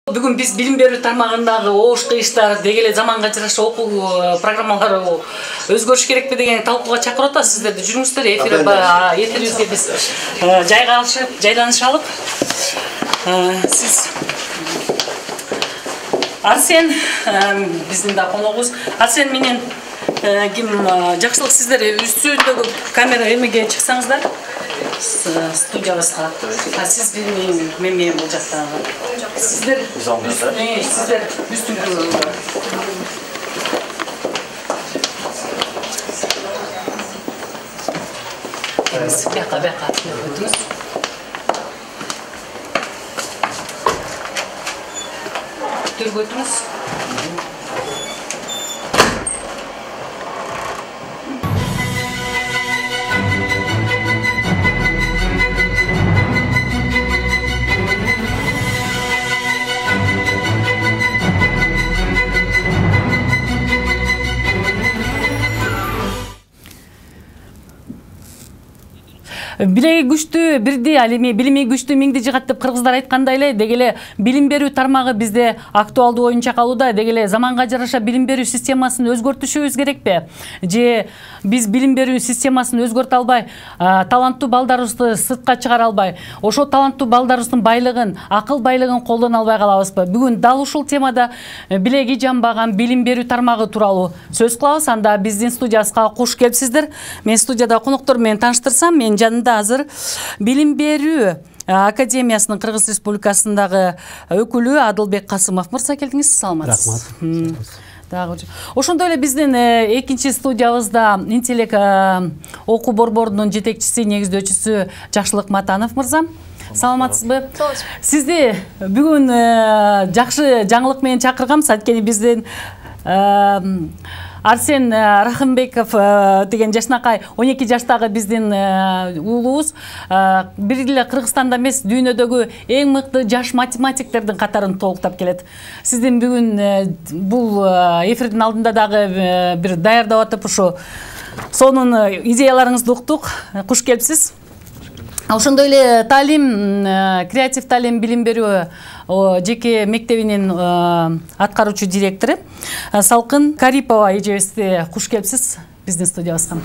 Бүгүн биз билим берүү тармагындагы оош кыйыштар деги эле заманга жараша окуу программалары өзгөрүш керекпи деген талкууга чакырып атабыз. Сиздерди жүрүңүздөр эфирибизге биз жайланышалып. Сиз Арсен биздин да коногубуз. Арсен менен ким жакшылык сиздер үстүндөгү камера эмеге чыксаңыздар. Студиябызга. Сиз мен бул жактагы. Сиздер үстүнгү. Бяка өтүңүз. Төргө өтүңүз. Биреги күчтүү бирди, ал эми билими күчтүү миңди жыгат деп кыргыздар айткандай эле, деги эле билим берүү тармагы бизде актуалдуу оюнча калууда. Деги эле заманга жараша билим берүү системасын өзгөртүшүбүз керекпи? Же биз билим берүү системасын өзгөртө албай, таланттуу балдарыбызды сыртка чыгара албай, ошо таланттуу балдарыбыздын байлыгын, акыл байлыгын колдоно албай калабызбы? Бүгүн дал ушул темада билеги жамбаган билим берүү тармагы тууралуу сөз кылабыз. Анда биздин студиябызга куш келипсиздер. Мен студияда коноктор менен тааныштырсам, мен жанымда азыр билим берүү академиясынын Кыргыз Республикасындагы өкүлү Адылбек Касымов мырза келдиңиз. Саламатсыз. Рахмат. Ошондой эле биздин экинчи студиябызда интеллект окуу борборунун жетекчиси, негиздөөчүсү Жакшылык Матанов мырза. Саламатсызбы? Сизди бүгүн жакшы жаңылык менен чакырганбыз. Анткени биздин Арсен Рахымбеков деген жашнакай 12 жаштагы биздин уулубуз бир эле Кыргызстанда эмес, дүйнөдөгү эң мыкты жаш математиктердин катарын толуктап келет. Сиздин бүгүн бул эфирдин алдында дагы бир даярдап атып ушу сонун идеяларыңызды уктук. Куш келипсиз. Ошондой эле таалим, креатив таалим билим берүү жеке мектебинин аткаруучу директору Салкын Карипова эжебизди куш келипсиз биздин студиябызга.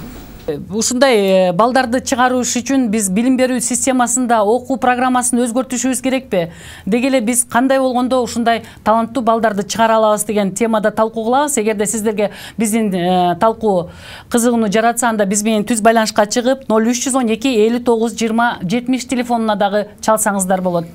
Ушундай балдарды чыгарыш үчүн биз билим берүү системасында окуу программасын өзгөртүшүбүз керекпи? Деги эле биз кандай болгондо ушундай таланттуу балдарды чыгара алабыз деген темада талкуу кылабыз. Эгерде сиздерге биздин талкуу кызыгууну жаратса, анда биз менен түз байланышка чыгып 0312 59 20 70 телефонуна дагы чалсаңыздар болот.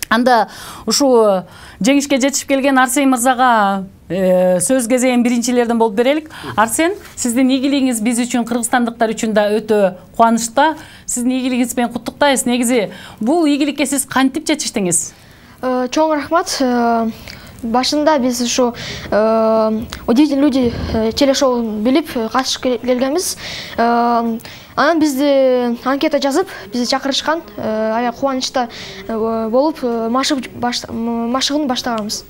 Анда ушу жеңишке жетишип келген Арсен мырзага сөз кезегин биринчилерден болуп берелик. Арсен, сиздин ийгилигиңиз биз үчүн, кыргызстандыктар үчүн да өтө кубанычта. Сиздин ийгилигиңиз менен куттуктайбыз. Негизи бул ийгиликке сиз кантип жетиштиңиз? Чоң рахмат. Башында биз ушу удивительные люди телешоу билип катышып келгенбиз. Анан бизди анкета жазып, бизди чакырышкан. Аябай кубанычта болуп, машыгын баштаганбыз.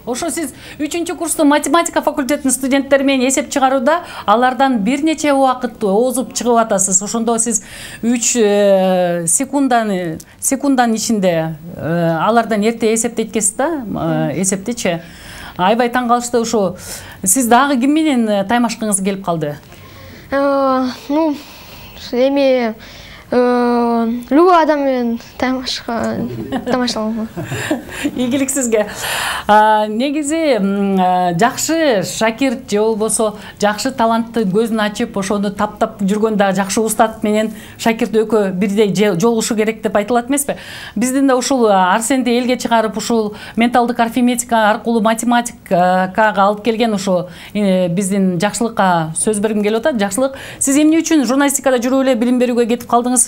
Ошо сиз 3-курстун математика факультетинин студенттери менен эсеп чыгарууда алардан бир нече убакыт озуп чыгып атасыз. Ошондо сиз 3 секунданын ичинде алардан эрте эсептейт экенсиз да, эсептечи. Аябай таң калышты. Ушу сиз дагы ким менен таймашкыңыз келип калды? Эми любой адам менен тамашалам. Ийгилик сизге. Негизи жакшы шакирт же болбосо жакшы талантты көзүн ачып, ошону таптап жүргөн да жакшы устат менен шакирт экөө бирдей жолугушу керек деп айтылат эмеспи? Биздин да ушул Арсенди элге чыгарып, ушул менталдык арифметика аркылуу математикага алып келген ушу биздин Жакшылыкка сөз бергим келип атат. Жакшылык, сиз эмне үчүн журналистикада жүрүп эле билим берүүгө кетип калдыңыз?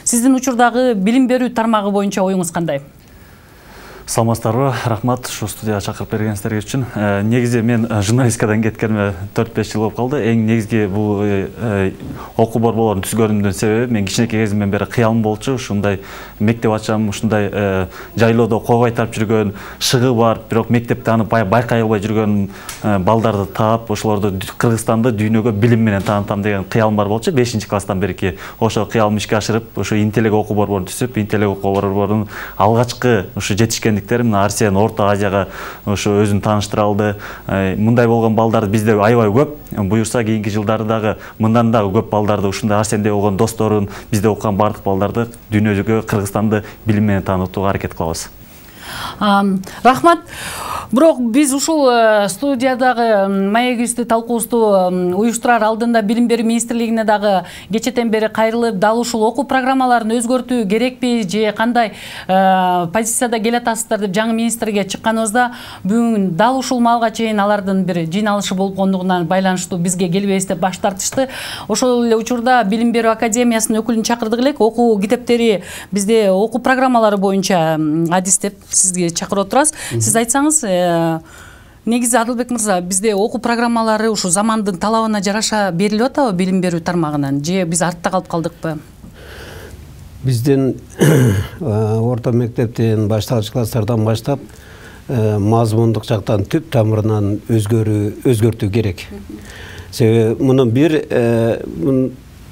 Сиздин учурдагы билим берүү тармагы боюнча оюңуз кандай? Саламатсыздарбы, рахмат ушу студияга чакырып бергениңиздер үчүн. Негизи мен журналистикадан кеткениме 4-5 жыл болуп калды. Эң негизги бул окуу борборлорун түзгөнүмдүн себеби мен кичинекей кезимден бери кыялым болчу. Ушундай мектеп ачам, ушундай жайлоодо кол кайтарып жүргөн, шыгы бар, бирок мектепте аны байкай албай жүргөн балдарды таап, ошолорду Кыргызстанды дүйнөгө билим менен таанытам деген кыялым бар болчу. 5-класстан берки ошо кыялымды ишке ашырып, ошо интеллект окуу борборун түзүп, интеллект окуу борборунун алгачкы ушу жетишкендик арсендиктер. Мына Арсен Орто Азияга ошо өзүн тааныштыра алды. Мындай болгон балдар бизде аябай көп. Буюрса кийинки жылдары дагы мындан дагы көп балдарды, ушундай Арсенде болгон досторун, бизде окуган бардык балдарды дүйнөгө, Кыргызстанды билим менен таанытууга аракет кылабыз. Рахмат. Бирок биз ушул студиядагы маегибизди талкуубузду уюштурар алдында Билим берүү министрлигине дагы кечэтен бери кайрылып, дал ушул окуу программаларын өзгөртүү керекпи же кандай позицияда келатасыздар деп жаңы министрге чыкканыбызда, бүгүн дал ушул маалга чейин алардын бир жыйналышы болгондугунан байланыштуу бизге келбейбиз деп баш тартышты. Ошол эле учурда Билим берүү академиясынын өкүлүн чакырдык элек. Окуу китептери бизде окуу программалары боюнча адистеп сизге чакырып отурабыз. Сиз айтсаңыз, негизи Адылбек мырза, бизде окуу программалары ушу замандын талабына жараша берилип атабы билим берүү тармагынан, же биз артта калып калдыкпы? Биздин орто мектептен башталгыч класстардан баштап мазмундук жактан түп тамырынан өзгөртүү керек. Себеби мунун бир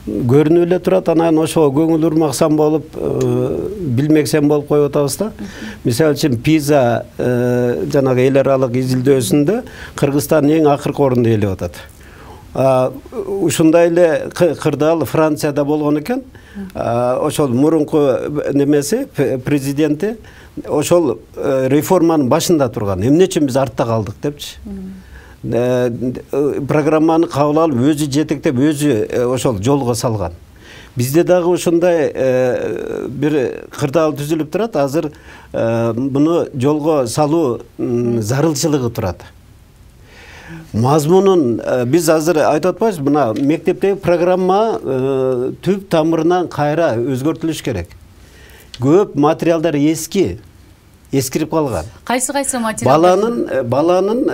көрүнүп эле турат, анан ошого көңүл урмаксан болуп, билмексен болуп коюп атабыз да. Мисалы үчүн PISA жанагы эл аралык изилдөөсүндө Кыргызстан эң акыркы орунду ээлеп атат. Ушундай эле кырдаал Францияда болгон экен. Ошол мурунку немеси президенти ошол реформанын башында турган. Эмне үчүн биз артта калдык депчи. Программаны кабыл алып, өзү жетектеп, өзү ошол жолго салган. Бизде дагы ушундай бир кырдаал түзүлүп турат. Азыр муну жолго салуу зарылчылыгы турат. Мазмунун биз азыр айтып атпайбыз, мына мектептеги программа түп тамырынан кайра өзгөртүлүш керек. Көп материалдар эскирип калган. Кайсы материалдар? Баланын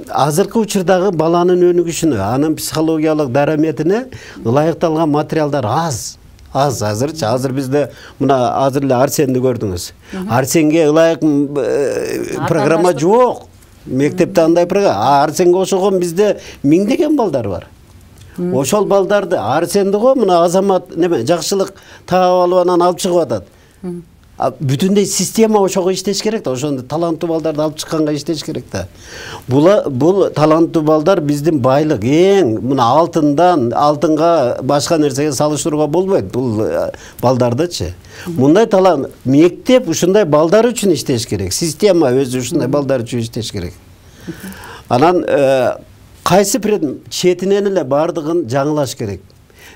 азыркы учурдагы баланын өнүгүшүнө, анын психологиялык дараметине ылайыкталган материалдар аз. Азырчы. Азыр бизде мына азыр эле Арсенди көрдүңүз. Арсенге ылайык программа жок. Мектепте андай программа. Арсенге окшогон бизде миңдеген балдар бар. Ошол балдарды Арсенди го мына Азамат жакшылык таап алып анан алып чыгып атат. Бүтүндөй система ошого иштеш керек да, ошондо таланттуу балдарды алып чыкканга иштеш керек да. Бул таланттуу балдар биздин байлык, эң мына алтынга башка нерсеге салыштырууга болбойт бул балдардычы. Мындай талант мектеп ушундай балдар үчүн иштеш керек, система өзү ушундай балдар үчүн иштеш керек. Анан кайсы четинен эле бардыгын жаңылаш керек.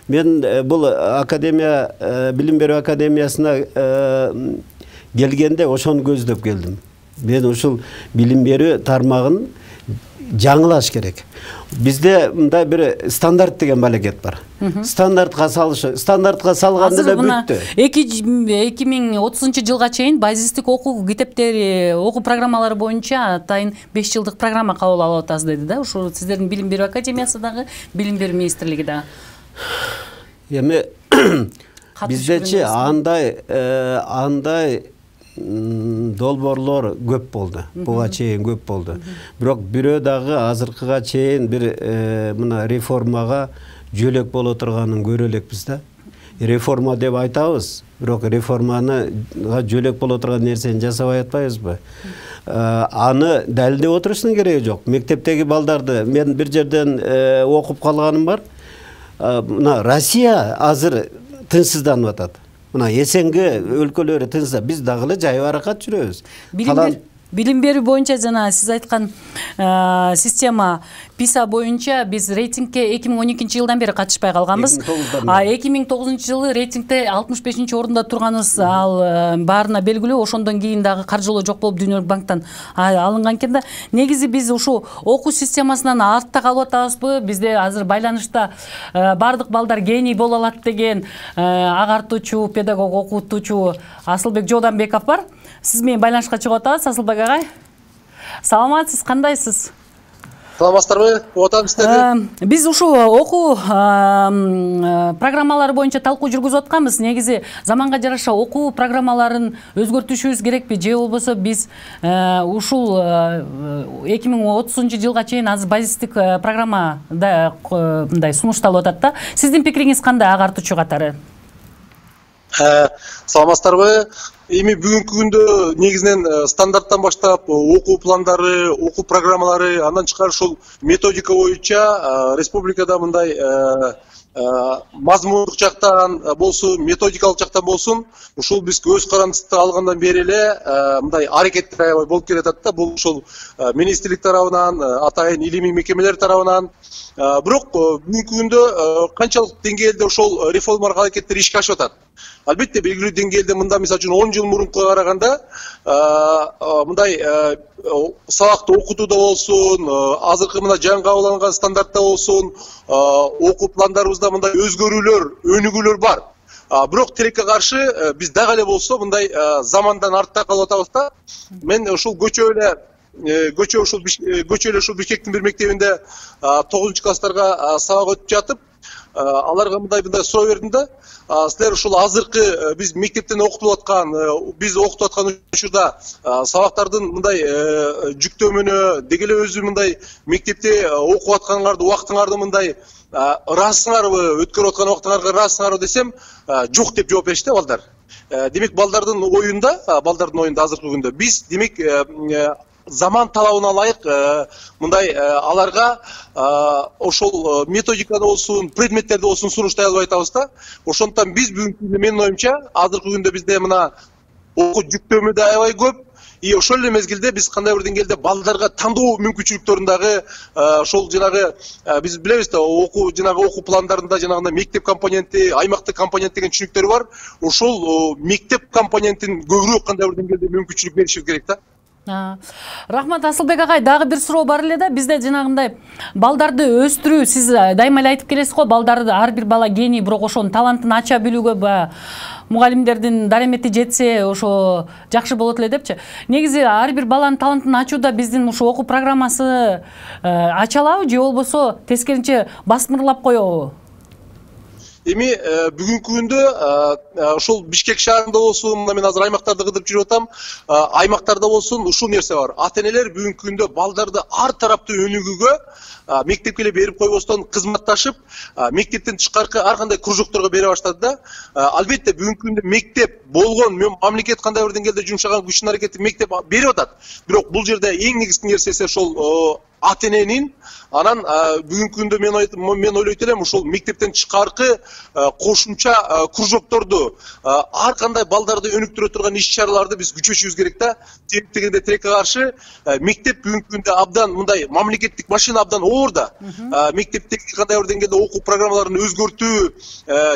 Мен бул академия, билим берүү академиясына келгенде ошону көздөп келдим. Мен ушул билим берүү тармагын жаңылаш керек. Бизде мындай бир стандарт деген балекет бар. Стандартка салганда эле бүттү. 2030 жылга чейин базистик окуу китептери, окуу программалары боюнча атайын 5 жылдык программа кабыл алып атасыз деди да. Ушул сиздердин билим берүү академиясы дагы, билим берүү министрлиги дагы. Эми биздечи андай долбоорлор көп болду. Буга чейин көп болду. Бирок бирөө дагы азыркыга чейин бир мына реформага жөлөк боло турганын көрө элекпиз да. Реформа деп айтабыз, бирок реформаны жөлөк боло турган нерсени жасабай атпайбызбы? Аны далилдеп отуруштун кереги жок. Мектептеги балдарды мен бир жерден окуп калганым бар. Мына Россия азыр тынчсызданып атат. Мына эсенге өлкөлөрү тынчсыз, биз дагы эле жайбаракат жүрөбүз. Билим берүү боюнча жана сиз айткан система PISA боюнча биз рейтингке 2012 жылдан бери катышпай калганбыз. 2009 жылы рейтингте 65 орунда турганыбыз, ал баарына белгилүү. Ошондон кийин дагы каржылоо жок болуп Дүйнөлүк банктан алынган экен да. Негизи биз ушу окуу системасынан артта калып атабызбы? Бизде азыр байланышта бардык балдар гений боло алат деген агартуучу, педагог, окутуучу Асылбек Жооданбеков бар. Сиз менен байланышка чыгып атабыз, Асылбек агай. Саламатсыз, кандайсыз? Саламатсыздарбы? Отамсыздар. Биз ушу окуу программалары боюнча талкуу жүргүзүп атканбыз. Негизи заманга жараша окуу программаларын өзгөртүшүбүз керекпи, же болбосо биз ушул 2030 жылга чейин азыр базистик программада мындай сунушталып атат да. Сиздин пикириңиз кандай агартуучу катары? Саламатсыздарбы? Эми бүгүнкү күндө негизинен стандарттан баштап окуу пландары, окуу программалары, андан тышкары ушул методика боюнча республикада мындай мазмундук жактан болсун, методикалык жактан болсун, ушул биз өз карандыбызды алгандан бери эле мындай аракеттер аябай болуп келатат да. Бул ушул министрлик тарабынан, атайын илимий мекемелер тарабынан. Бирок бүгүнкү күндө канчалык деңгээлде ошол реформалык аракеттер ишке ашып атат? Албетте белгилүү деңгээлде мында мисалы үчүн 10 жыл мурункуга караганда мындай сабакты окутууда болсун, азыркы мына жаңы кабыл алынган стандартта болсун, окуу пландарыбызда мындай өзгөрүүлөр, өнүгүүлөр бар. Бирок тилекке каршы биз дагы эле болсо мындай замандан артта калып атабыз да. Мен ушул көчө эле ушул Бишкектин бир мектебинде 9-класстарга сабак өтүп жатып, аларга мындай суроо бердим да. Силер ушул азыркы биз мектептен окутуп аткан, биз окутуп аткан учурда сабактардын мындай жүктөмүнө, деги эле өзү мындай мектепте окуп атканыңарды, убактыңарды мындай ыраасыңарбы, өткөрүп аткан убактыңарга ыраасыңарбы десем, жок деп жооп беришти балдар. Демек балдардын оюнда азыркы күндө биз демек заман талабына ылайык мындай аларга ошол методикада болсун, предметтерде болсун сунуштай албай атабыз да. Ошондуктан биз бүгүнкү күндө менин оюмча азыркы күндө бизде мына окуу жүктөмү да аябай көп. И ошол эле мезгилде биз кандай бир деңгээлде балдарга тандоо мүмкүнчүлүктөрүн дагы ошол жанагы биз билебиз да, окуу пландарында жанагындай мектеп компоненти, аймактык компонент деген түшүнүктөр бар. Ошол мектеп компонентин көбүрөөк кандай бир деңгээлде мүмкүнчүлүк беришибиз керек да. Рахмат Асылбек агай, дагы бир суроо бар эле да. Бизде жанагындай балдарды өстүрүү, сиз дайыма эле айтып келесиз го, балдарды ар бир бала гений, бирок ошонун талантын ача билүүгө мугалимдердин дарамети жетсе, ошо жакшы болот эле депчи. Негизи ар бир баланын талантын ачууда биздин ушу окуу программасы ача алабы же болбосо тескерисинче басмырлап коебу? Эми бүгүнкү күндө ошол Бишкек шаарында болсун, мен азыр аймактарды кыдырып жүрүп атам, аймактарда болсун ушул нерсе бар. Ата-энелер бүгүнкү күндө балдарды ар тараптуу өнүгүүгө мектепке эле берип койбостон кызматташып, мектептен тышкаркы ар кандай кружокторго бере баштады да. Албетте бүгүнкү күндө мектеп болгон, мамлекет кандай бир деңгээлде жумшаган күчүн аракетти мектеп берип атат. Бирок бул жерде эң негизги нерсеси ошол ата-эненин, анан бүгүнкү күндө мен ойлойт элем ушул мектептен тышкаркы кошумча кружокторду, ар кандай балдарды өнүктүрө турган иш-чараларды биз күчөтүшүбүз керек да. Тегенде тилекке каршы мектеп бүгүнкү күндө абдан мындай мамлекеттик машина абдан оор да. Мектептеги кандай бир деңгээлде окуу программаларын өзгөртүү,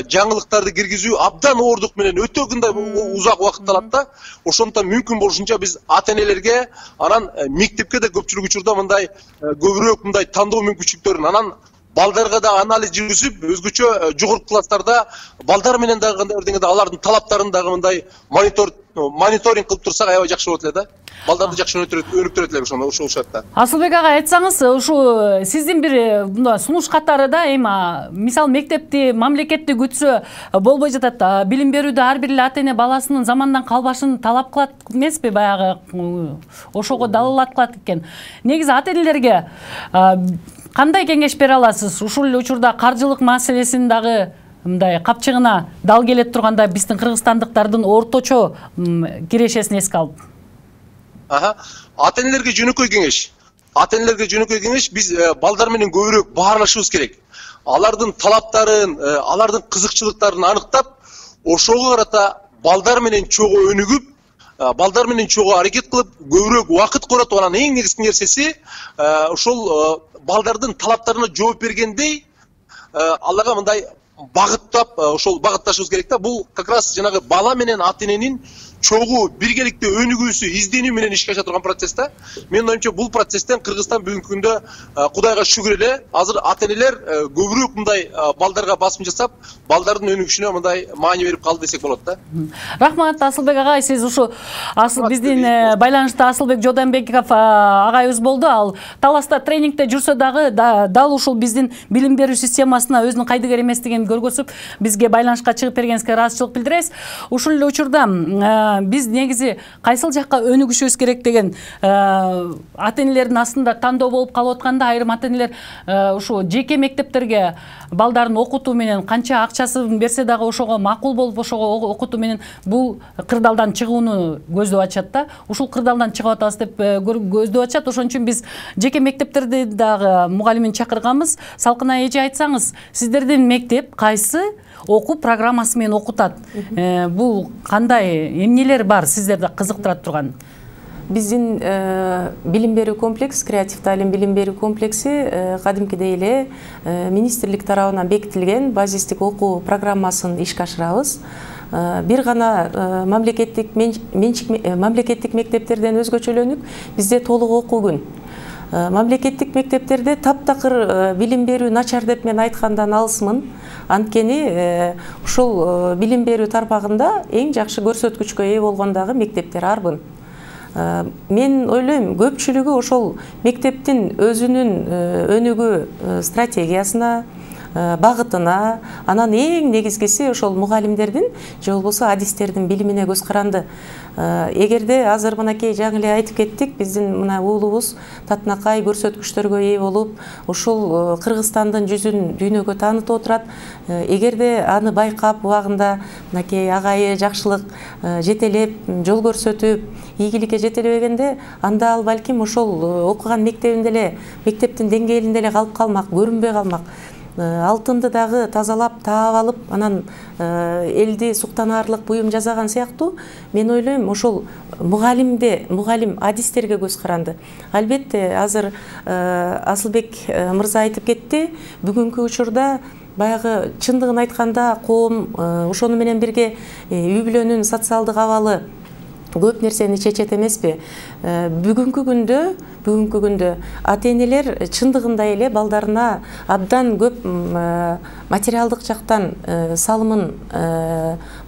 жаңылыктарды киргизүү абдан оордук менен өтө кандай узак убакыт алат да. Ошондуктан мүмкүн болушунча биз ата-энелерге, анан мектепке да көпчүлүк учурда мындай көбүрөөк мындай тандоо мүмкүнчүлүктөрүн, анан балдарга да анализ жүргүзүп, өзгөчө жогорку класстарда балдар менен дагы кандай бир деңгээлде алардын талаптарын дагы мындай мониторинг кылып турсак аябай жакшы болот эле да. Балдарды жакшы өнүктүрөт элек ошол шартта. Асылбек агай, айтсаңыз, ушу сиздин бир мындай сунуш катары да, эми мисал мектепти мамлекетти күтсө болбой жатат. Билим берүүдө ар бир эле ата-эне баласынын замандан калбашын талап кылат эмеспи, баягы ошого далалат кылат экен. Негизи ата-энелерге кандай кеңеш бере аласыз? Ушул эле учурда каржылык маселесин дагы мындай капчыгына дал келет турганда биздин кыргызстандыктардын орточо кирешесин эске алып. Ата-энелерге жөнөкөй кеңеш, биз балдар менен көбүрөөк баарлашыбыз керек. Алардын талаптарын, алардын кызыкчылыктарын аныктап, ошого карата балдар менен чогуу өнүгүп, балдар менен чогуу аракет кылып, көбүрөөк убакыт коротуп, анан эң негизги нерсеси ошол балдардын талаптарына жооп бергендей аларга мындай багыттап, ошол багытташыбыз керек да. Бул как раз жанагы бала менен ата-эненин чогуу биргеликте өнүгүүсү, изденүү менен ишке аша турган процесс да. Менин оюмча бул процесстен Кыргызстан бүгүнкү күндө Кудайга шүгүр эле азыр ата-энелер көбүрөөк мындай балдарга басым жасап, балдардын өнүгүшүнө мындай маани берип калды десек болот да. Рахмат Асылбек агай, сиз ушу биздин байланышта Асылбек Жодонбеков агайыбыз болду. Ал Таласта тренингде жүрсө дагы дал ушул биздин билим берүү системасына өзүнүн кайдыгер эместигин көргөзүп, бизге байланышка чыгып бергениңизге ыраазычылык билдиребиз. Ушул эле учурда биз негизи кайсыл жакка өнүгүшүбүз керек деген ата энелердин астында тандоо болуп калып атканда, айрым ата энелер ушу жеке мектептерге балдарын окутуу менен канча акчасын берсе дагы ошого макул болуп ошого окутуу менен бул кырдаалдан чыгууну көздөп атышат да. Ушул кырдаалдан чыгып атабыз деп көздөп атышат. Ошон үчүн биз жеке мектептерди дагы мугалимин чакырганбыз. Салкына эже, айтсаңыз, сиздердин мектеп кайсы окуу программасы менен окутат? Бул кандай эмнелер бар сиздерди кызыктыра турган? Биздин билим берүү комплекс, креатив талим билим берүү комплекси кадимкидей эле министрлик тарабынан бекитилген базистик окуу программасын ишке ашырабыз. Бир гана мамлекеттик мектептерден өзгөчөлөнүк, бизде толук окуу күн. Мамлекеттик мектептерде таптакыр билим берүү начар деп мен айткандан алысмын. Анткени ушул билим берүү тармагында эң жакшы көрсөткүчкө ээ болгон дагы мектептер арбын. Мен ойлойм, көпчүлүгү ошол мектептин өзүнүн өнүгүү стратегиясына, багытына, анан эң негизгиси ошол мугалимдердин же болбосо адистердин билимине көз каранды. Эгерде азыр мынакей жаңы эле айтып кеттик, биздин мына уулубуз татынакай көрсөткүчтөргө ээ болуп, ушул Кыргызстандын жүзүн дүйнөгө таанытып отурат. Эгерде аны байкап убагында мынакей агайы жакшылык жетелеп, жол көрсөтүп, ийгиликке жетелебегенде, анда ал балким ошол окуган мектебинде эле, мектептин деңгээлинде эле калып калмак, көрүнбөй калмак. Алтынды дагы тазалап, таап алып, анан элди суктанаарлык буюм жасаган сыяктуу, мен ойлойм, ошол мугалим адистерге көз каранды. Албетте, азыр Асылбек мырза айтып кетти, бүгүнкү учурда баягы чындыгын айтканда коом ошону менен бирге үй бүлөнүн социалдык абалы көп нерсени чечет эмеспи? Бүгүнкү күндө ата энелер чындыгында эле балдарына абдан көп материалдык жактан салымын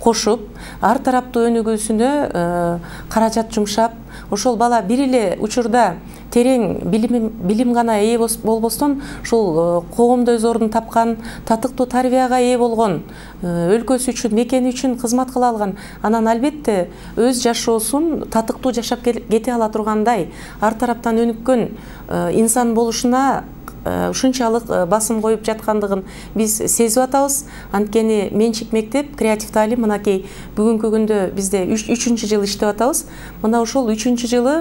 кошуп, ар тараптуу өнүгүүсүнө каражат жумшап, ошол бала бир эле учурда терең билим гана ээ болбостон, ушул коомдо өз ордун тапкан, татыктуу тарбияга ээ болгон, өлкөсү үчүн, мекени үчүн кызмат кыла алган, анан албетте өз жашоосун татыктуу жашап кете ала тургандай, ар тараптан өнүккөн инсан болушуна ушунчалык басым коюп жаткандыгын биз сезип атабыз. Анткени менчик мектеп, креатив талим мынакей бүгүнкү күндө бизде 3-чү жыл иштеп атабыз. Мына ошол 3-чү жылы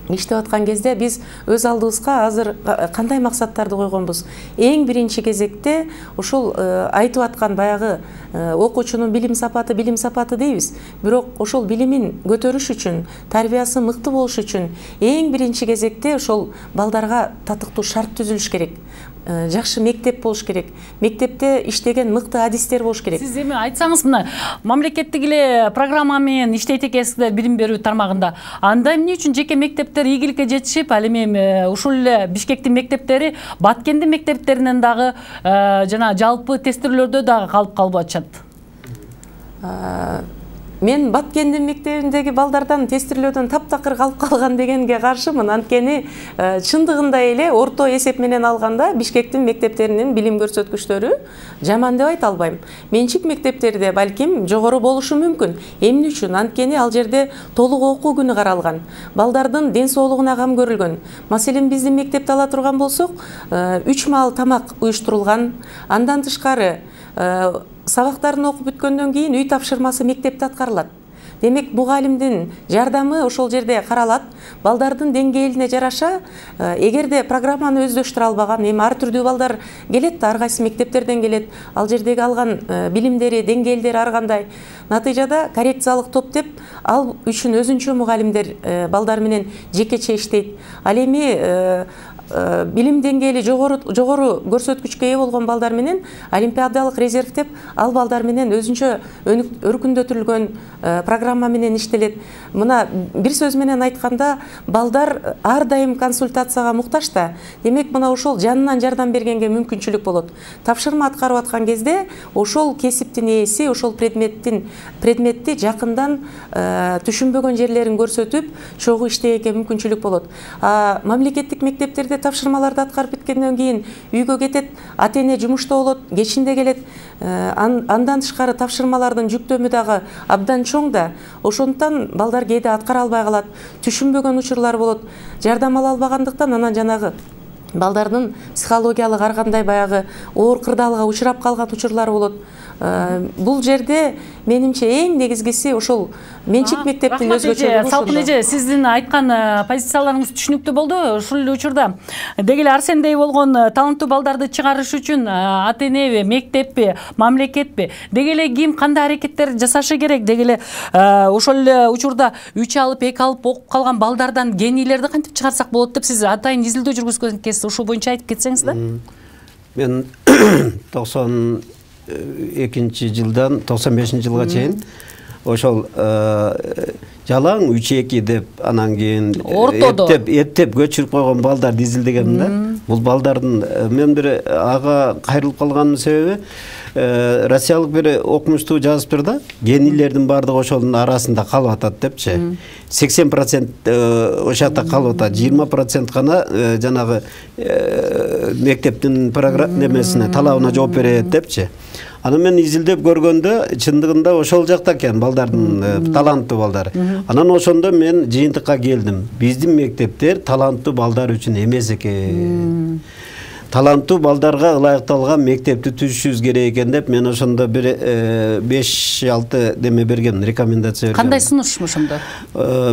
иштеп аткан кезде биз өз алдыбызга азыр кандай максаттарды койгонбуз? Эң биринчи кезекте ошол айтып аткан баягы окуучунун билим сапаты дейбиз. Бирок ошол билимин көтөрүш үчүн, тарбиясы мыкты болуш үчүн эң биринчи кезекте ошол балдарга татыктуу шарт түзүлүш керек. Жакшы мектеп болуш керек. Мектепте иштеген мыкты адистер болуш керек. Сиз эми айтсаңыз, мына мамлекеттик эле программа менен иштейт экенсиздер билим берүү тармагында. Анда эмне үчүн жеке мектептер ийгиликке жетишип, ал эми ушул эле Бишкектин мектептери Баткендин мектептеринен дагы жана жалпы тестирлөөдө дагы калып атышат? Мен Баткендин мектебиндеги балдардан тестирлөөдөн таптакыр калып калган дегенге каршымын. Анткени чындыгында эле орто эсеп менен алганда Бишкектин мектептеринин билим көрсөткүчтөрү жаман деп айта албайм. Менчик мектептерде балким жогору болушу мүмкүн. Эмне үчүн? Анткени ал жерде толук окуу күнү каралган. Балдардын ден соолугуна кам көрүлгөн. Маселен, биздин мектепти ала турган болсок, 3 маал тамак уюштурулган. Андан тышкары сабактарын окуп бүткөндөн кийин үй тапшырмасы мектепте аткарылат. Демек, мугалимдин жардамы ошол жерде каралат. Балдардын деңгээлине жараша, эгерде программаны өздөштүрө албаган, эми ар түрдүү балдар келет да, ар кайсы мектептерден келет. Ал жердеги алган билимдери, деңгээлдери ар кандай. Натыйжада коррекциялык топ деп, ал үчүн өзүнчө мугалимдер балдар менен жекече иштейт. Ал эми билим деңгээли жогору көрсөткүчкө ээ болгон балдар менен олимпиадалык резерв деп, ал балдар менен өзүнчө өркүндөтүлгөн программа менен иштелет. Мына бир сөз менен айтканда, балдар ар дайым консультацияга муктаж да. Демек, мына ошол жанынан жардам бергенге мүмкүнчүлүк болот. Тапшырма аткарып аткан кезде ошол кесиптин ээси, ошол предметти жакындан түшүнбөгөн жерлерин көрсөтүп, чогуу иштегенге мүмкүнчүлүк болот. Мамлекеттик мектептерде жерде тапшырмаларды аткарып биткенден кийин үйгө кетет, ата эне жумушта болот, кечинде келет. Андан тышкары тапшырмалардын жүктөмү дагы абдан чоң да. Ошондуктан балдар кээде аткара албай калат, түшүнбөгөн учурлар болот. Жардам ала албагандыктан анан жанагы балдардын психологиялык ар кандай баягы оор кырдаалга учурап калган учурлар болот. Бул жерде менимче эң негизгиси ошол менчик мектептин өзгөчөлүгү. Салкын эже, сиздин айткан позицияларыңыз түшүнүктүү болду. Ушул эле учурда деги эле Арсендей болгон таланттуу балдарды чыгарыш үчүн ата энеби, мектеппи, мамлекетпи, деги эле ким кандай аракеттер жасашы керек? Деги эле ошол эле учурда 3 алып, 2 алып окуп калган балдардан генийлерди кантип чыгарсак болот деп сиз атайын изилдөө жүргүзгөн экенсиз. Ушул боюнча айтып кетсеңиз да. Мен 92 жылдан 95 жылга чейин ошол жалаң 3-2 деп анан кийин эптеп көчүрүп койгон балдарды изилдегем да. Бул балдардын мен бир ага кайрылып калганымдын себеби Россиялык бир окумуштуу жазыптыр да, генийлердин баардыгы ошонун арасында калып атат депчи. 80% ошол жакта калып атат, 20% гана жанагы мектептин немесине, талабына жооп берет депчи. Аны мен изилдеп көргөндө чындыгында ошол жакта экен балдардын таланттуу балдары. Анан ошондо мен жыйынтыкка келдим. Биздин мектептер таланттуу балдар үчүн эмес экен. Таланттуу балдарга ылайыкталган мектепти түзүшүбүз керек экен деп мен ошондо бир 5-6 деме берген, рекомендация берген. Кандай сунуш ошондо?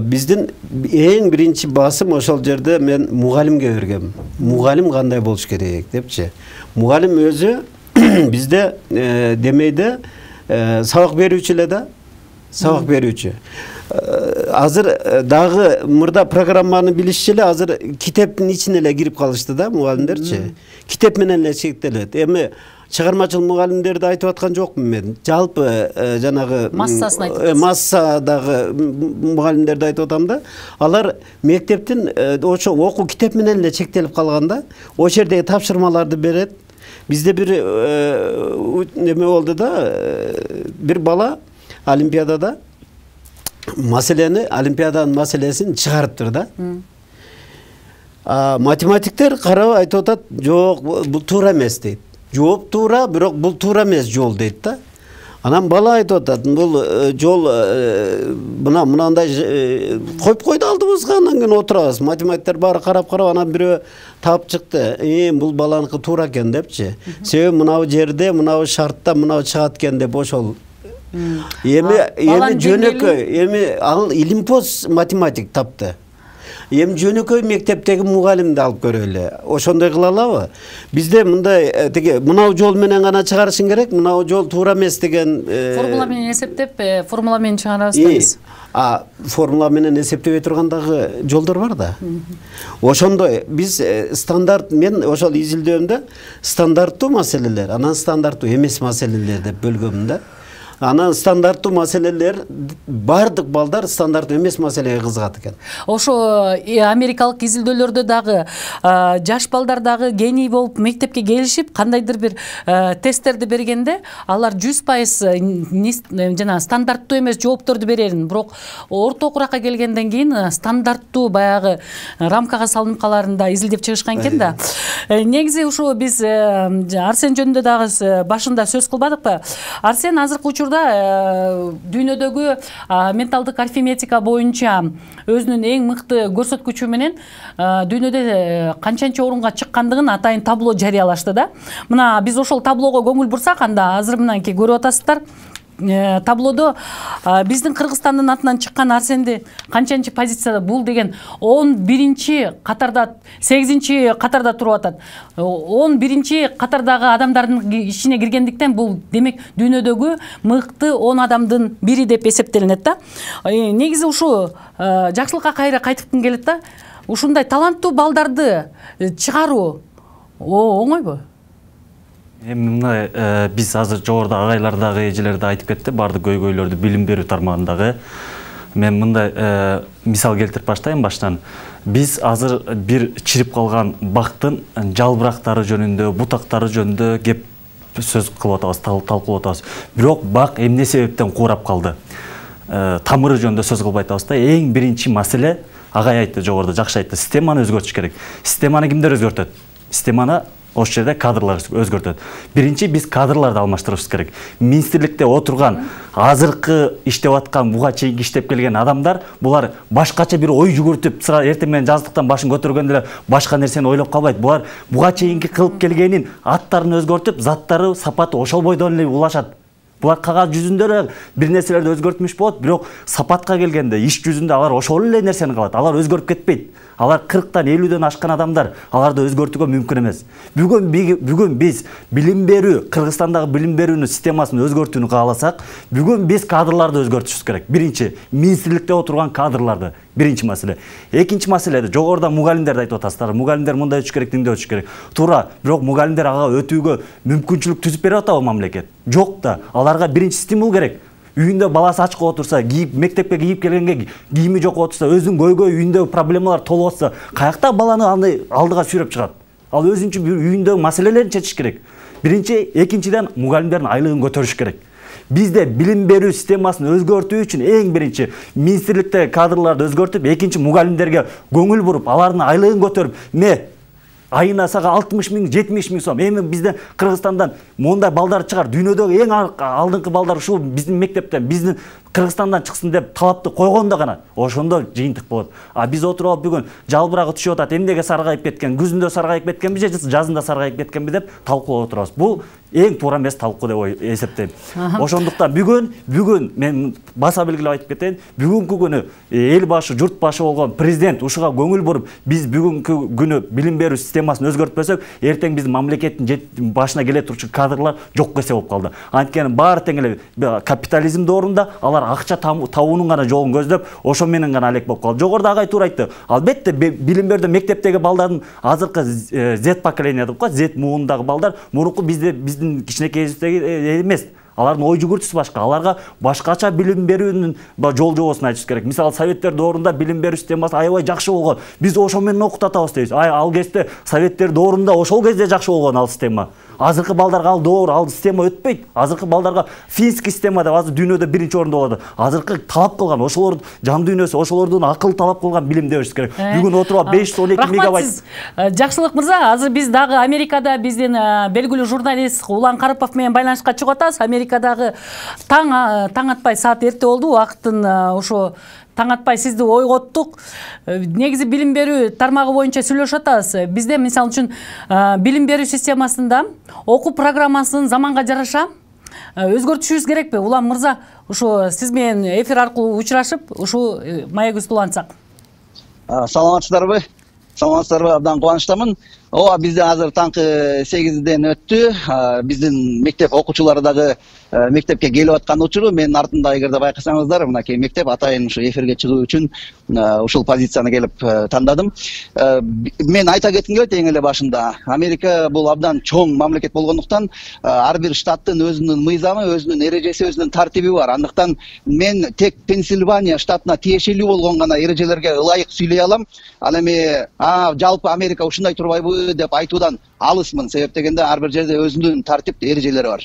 Биздин эң биринчи басым ошол жерде мен мугалимге бергем. Мугалим кандай болуш керек депчи. Мугалим өзү бизде демейде сабак берүүчү эле да, сабак берүүчү. Азыр дагы мурда программаны билишчи эле, азыр китептин ичине эле кирип калышты да мугалимдерчи. Китеп менен эле чектелет. Эми чыгармачыл мугалимдерди айтып аткан жокмун мен. Жалпы жанагы массасын айтып атасыз. Массадагы мугалимдерди айтып атам да. Алар мектептин ошо окуу китеп менен эле чектелип калган да. Ошол жердеги тапшырмаларды берет. Бизде бир неме болду да, бир бала олимпиадада олимпиаданын маселесин чыгарыптыр да. Математиктер карап айтып атат, жок, бул туура эмес дейт. Жооп туура, бирок бул туура эмес жол дейт да. Анан бала айтып атат, бул жол мынандай коюп койду алдыбызга, анан кийин отурабыз. Математиктер баары карап, анан бирөө таап чыкты. Бул баланыкы туура экен депчи. Себеби мынау жерде, мынау шартта, мынау чыгат экен деп ошол. Эми жөнөкөй, эми ал илимпоз математик тапты. Эми жөнөкөй мектептеги мугалимди алып көрөлү. Ошондой кыла алабы? Бизде мындай теге мынау жол менен гана чыгарышың керек, мынау жол туура эмес деген формула менен эсептеп, формула менен чыгарабыз. Формула менен эсептебей тургандагы жолдор бар да. Ошондой биз стандарт, мен ошол изилдөөмдө стандарттуу маселелер, анан стандарттуу эмес маселелер деп бөлгөм да. Анан стандарттуу маселелер, бардык балдар стандарттуу эмес маселеге кызыгат экен. Ошо америкалык изилдөөлөрдө дагы жаш балдар дагы гений болуп мектепке келишип, кандайдыр бир тесттерди бергенде, алар 100% жана стандарттуу эмес жоопторду берерин, бирок орто окуракка келгенден кийин стандарттуу баягы рамкага салынып каларын изилдеп чыгышкан экен да. Негизи ушу биз Арсен жөнүндө дагы башында сөз кылбадыкпы? Арсен азыркы учурда дүйнөдөгү менталдык арифметика боюнча өзүнүн эң мыкты көрсөткүчү менен дүйнөдө канчанчы орунга чыккандыгын атайын табло жарыялашты да. Мына биз ошол таблого көңүл бурсак, анда азыр мынанки көрүп атасыздар. Таблодо биздин Кыргызстандын атынан чыккан Арсенди канчанчы позицияда, бул деген 11-чи катарда, 8-чи катарда туруп атат. 11-чи катардагы адамдардын ичине киргендиктен бул демек дүйнөдөгү мыкты 10 адамдын бири деп эсептелинет да. Негизи ушу жакшылыкка кайра кайтыккым келет да. Ушундай таланттуу балдарды чыгаруу оңойбу? Мына биз азыр жогоруда агайлар дагы, эжелер да айтып кетти, бардык көйгөйлөрдү билим берүү тармагындагы. Мен мындай мисал келтирип баштайын баштан. Биз азыр бир чирип калган бактын жалбырактары жөнүндө, бутактары жөнүндө кеп сөз кылып атабыз, талкуулап атабыз. Бирок бак эмне себептен куурап калды? Тамыры жөнүндө сөз кылбай атабыз да. Эң биринчи маселе агай айтты жогоруда, жакшы айтты. Системаны өзгөртүш керек. Системаны кимдер өзгөртөт? Системаны ошол жерде кадрлар өзгөртөт. Биринчи биз кадрларды алмаштырышыбыз керек. Министрликте отурган, азыркы иштеп аткан, буга чейин иштеп келген адамдар, булар башкача бир ой жүгүртүп, эртең менен жаздыктан башын көтөргөндө эле башка нерсени ойлоп калбайт. Булар буга чейинки кылып келгенин аттарын өзгөртүп, заттары, сапаты ошол бойдон эле улашат. Булар кагаз жүзүндө эле бир нерселерди өзгөртмүш болот, бирок сапатка келгенде, иш жүзүндө алар ошол эле нерсени кылат. Алар өзгөрүп кетпейт. Алар 40-тан 50-дөн ашкан адамдар, аларды өзгөртүүгө мүмкүн эмес. Бүгүн биз билим берүү, Кыргызстандагы билим берүүнүн системасын өзгөртүүнү кааласак, бүгүн биз кадрларды өзгөртүшүбүз керек. Биринчи, министрликте отурган кадрларды. Биринчи маселе. Экинчи маселе, жогоруда мугалимдерди айтып атасыздар. Мугалимдер мындай өтүш керек, тиңдей өтүш керек. Туура, бирок мугалимдер ага өтүүгө мүмкүнчүлүк түзүп берип атабы мамлекет? Жок да. Аларга биринчи стимул керек. Үйүндө баласы ачка отурса, мектепке кийип келгенге кийими жок отурса, өзүнүн көйгөй үйүндө проблемалар толуп атса, каякта баланы алдыга сүйрөп чыгат? Ал өзүнчө үйүндө маселелерин чечиш керек. Биринчи, экинчиден мугалимдердин айлыгын көтөрүш керек. Бизде билим берүү системасын өзгөртүү үчүн эң биринчи министрликте кадрларды өзгөртүп, экинчи мугалимдерге көңүл буруп, алардын айлыгын көтөрүп, айына сага 60 000, 70 000 сом. Эми бизден Кыргызстандан мондай балдар чыгар. Дүйнөдөгү эң алдыңкы балдар ушул биздин мектептен, биздин Кыргызстандан чыксын деп талапты койгондо гана ошондо жыйынтык болот. А биз отуруп алып бүгүн жалбырагы түшүп атат, эмнеге саргайып кеткен, күзүндө саргайып кеткенби же жазында саргайып кеткенби деп талкуулап отурабыз. Бул эң туура эмес талкуу деп эсептейм. Ошондуктан бүгүн мен баса белгилеп айтып кетейин, бүгүнкү күнү эл башы, журт башы болгон президент ушуга көңүл буруп, биз бүгүнкү күнү билим берүү системасын өзгөртпөсөк, эртең биздин мамлекеттин башына келе турчу кадрлар жок эсе болуп калды. Анткени баары тең эле капитализм доорунда алар акча табуунун гана жолун көздөп, ошо менен гана алек болуп калды. Жогоруда агай туура айтты. Албетте билим берүүдө мектептеги балдардын азыркы Z поколение деп коет, Z муунундагы балдар мурунку биздин кичинекейибиздеги эмес. Алардын ой жүгүртүүсү башка. Аларга башкача билим берүүнүн жол жобосун айтыш керек. Мисалы, советтер доорунда билим берүү системасы аябай жакшы болгон. Биз ошо менен окутатабыз дейбиз. Ал кезде советтер доорунда ошол кезде жакшы болгон ал система. Азыркы балдарга ал доор, ал система өтпөйт. Азыркы балдарга финский система деп азыр дүйнөдө биринчи орунда болот. Азыркы талап кылган, ошолор жан дүйнөсү, ошолордун акыл талап кылган билимди бериш керек. Бүгүн отуруп 512 мегабайт. Жакшылык мырза, азыр биз дагы Америкада биздин белгилүү журналист Улан Карыпов менен байланышка чыгып атабыз. Америкадагы таң атпай саат эрте болду, убакыттын ошо таң атпай сизди ойготтук. Негизи билим берүү тармагы боюнча сүйлөшүп атабыз. Бизде мисалы үчүн билим берүү системасында окуу программасын заманга жараша өзгөртүшүбүз керекпи? Улан мырза, ушу сиз менен эфир аркылуу учурашып, ушу маегибизди улантсак. Саламатсыздарбы? Абдан кубанычтамын. Бизде азыр таңкы 8-ден өттү. Биздин мектеп окуучулары дагы мектепке келип аткан учуру. Менин артымда эгерде байкасаңыздар, мынакей мектеп атайын ушу эфирге чыгуу үчүн ушул позицияны келип тандадым. Мен айта кетким келет эң эле башында. Америка бул абдан чоң мамлекет болгондуктан ар бир штаттын өзүнүн мыйзамы, өзүнүн эрежеси, өзүнүн тартиби бар. Андыктан мен тек Пенсильвания штатына тиешелүү болгон гана эрежелерге ылайык сүйлөй алам. Ал эми жалпы Америка ушундай турбайбы деп айтуудан алысмын. Себеп дегенде ар бир жерде өзүнүн тартип эрежелери бар.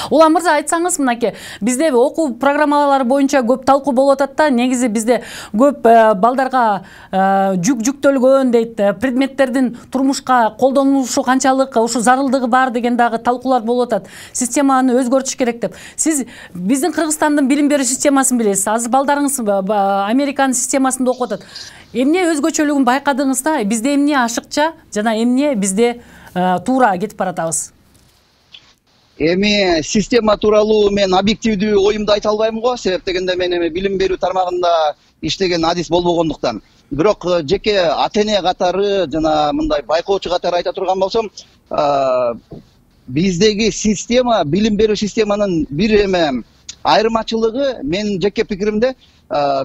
Улан мырза, айтсаңыз, мынакей бизде окуу программалары боюнча көп талкуу болуп атат да. Негизи бизде көп балдарга жүктөлгөн дейт, предметтердин турмушка колдонулушу канчалык, ушу зарылдыгы бар деген дагы талкуулар болуп атат. Системаны өзгөртүш керек деп. Сиз биздин Кыргызстандын билим берүү системасын билесиз. Азыр балдарыңыз Американын системасында окуп атат. Эмне өзгөчөлүгүн байкадыңыз да? Бизде эмне ашыкча жана эмне бизде туура кетип баратабыз? Эми система тууралуу мен объективдүү оюмду айта албайм го. Себеп дегенде мен эми билим берүү тармагында иштеген адис болбогондуктан. Бирок жеке ата-эне катары жана мындай байкоочу катары айта турган болсом, биздеги система, билим берүү системанын бир эме айырмачылыгы, менин жеке пикиримде,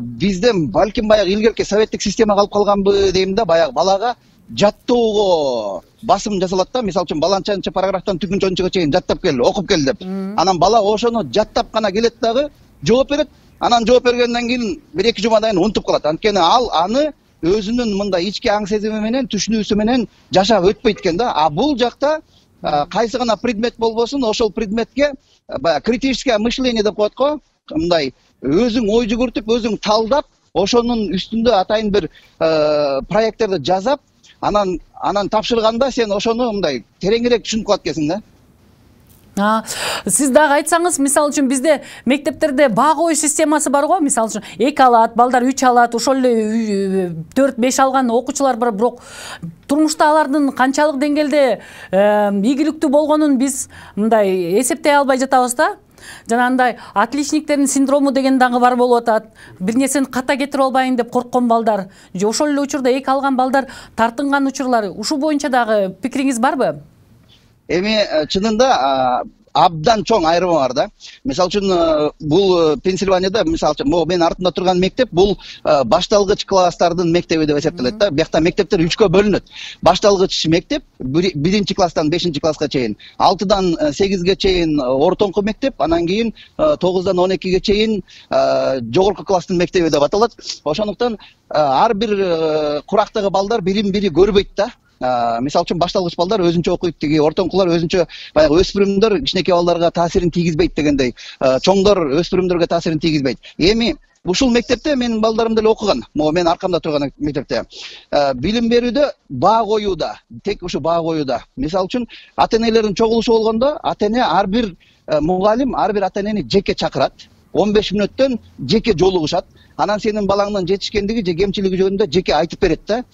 бизден балким баягы илгерки советтик система калып калганбы дейм да, баягы балага жаттоого басым жасалат да. Мисалы үчүн баланчанчы параграфтан түгүнчөнчүгө чейин жаттап кел, окуп кел деп. Анан бала ошону жаттап гана келет дагы, жооп берет. Анан жооп бергенден кийин 1-2 жумадан кийин унутуп калат. Анткени ал аны өзүнүн мындай ички аң сезими менен, түшүнүүсү менен жашап өтпөйт экен да. А бул жакта кайсы гана предмет болбосун, ошол предметке критическое мышление деп коет го, мындай өзүң ой жүгүртүп, өзүң талдап, ошонун үстүндө атайын бир проекттерди жасап, анан тапшырганда сен ошону мындай тереңирээк түшүнүп калат экенсиң да. Сиз дагы айтсаңыз, мисалы үчүн бизде мектептерде баа коюу системасы бар го, мисалы үчүн 2 алат, балдар 3 алат, ошол эле 4-5 алган окуучулар бар, бирок турмушта алардын канчалык деңгээлде ийгиликтүү болгонун биз мындай эсептей албай жатабыз да. Жанагындай отличниктердин синдрому деген дагы бар болуп атат. Бир нерсени ката кетирип албайын деп корккон балдар, же ошол эле учурда 2 алган балдар тартынган учурлар, ушул боюнча дагы пикириңиз барбы? Эми чынында абдан чоң айырмы бар да. Мисалы үчүн бул Пенсильванияда, мисалы үчүн могу мен артында турган мектеп бул башталгыч класстардын мектеби деп эсептелет да. Биякта мектептер 3кө бөлүнөт. Башталгыч мектеп 1-чи класстан 5-чи класска чейин, 6-дан 8ге чейин ортоңку мектеп, анан кийин 9-дан 12ге чейин жогорку класстын мектеби деп аталат. Ошондуктан ар бир курактагы балдар бирин-бири көрбөйт да. Мисалы үчүн башталгыч балдар өзүнчө окуйт, тиги ортоңкулар өзүнчө, баягы өспүрүмдөр кичинекей балдарга таасирин тийгизбейт дегендей, чоңдор өспүрүмдөргө таасирин тийгизбейт. Эми ушул мектепте менин балдарым деле окуган, могу мен аркамда турган мектепте. Билим берүүдө, баа коюуда, тек ушу баа коюуда. Мисалы үчүн ата-энелердин чогулушу болгондо, ата-эне ар бир мугалим ар бир ата-энени жеке чакырат. 15 мүнөттөн жеке жолугушат. Анан сенин балаңдын жетишкендиги же кемчилиги жөнүндө жеке айтып берет да.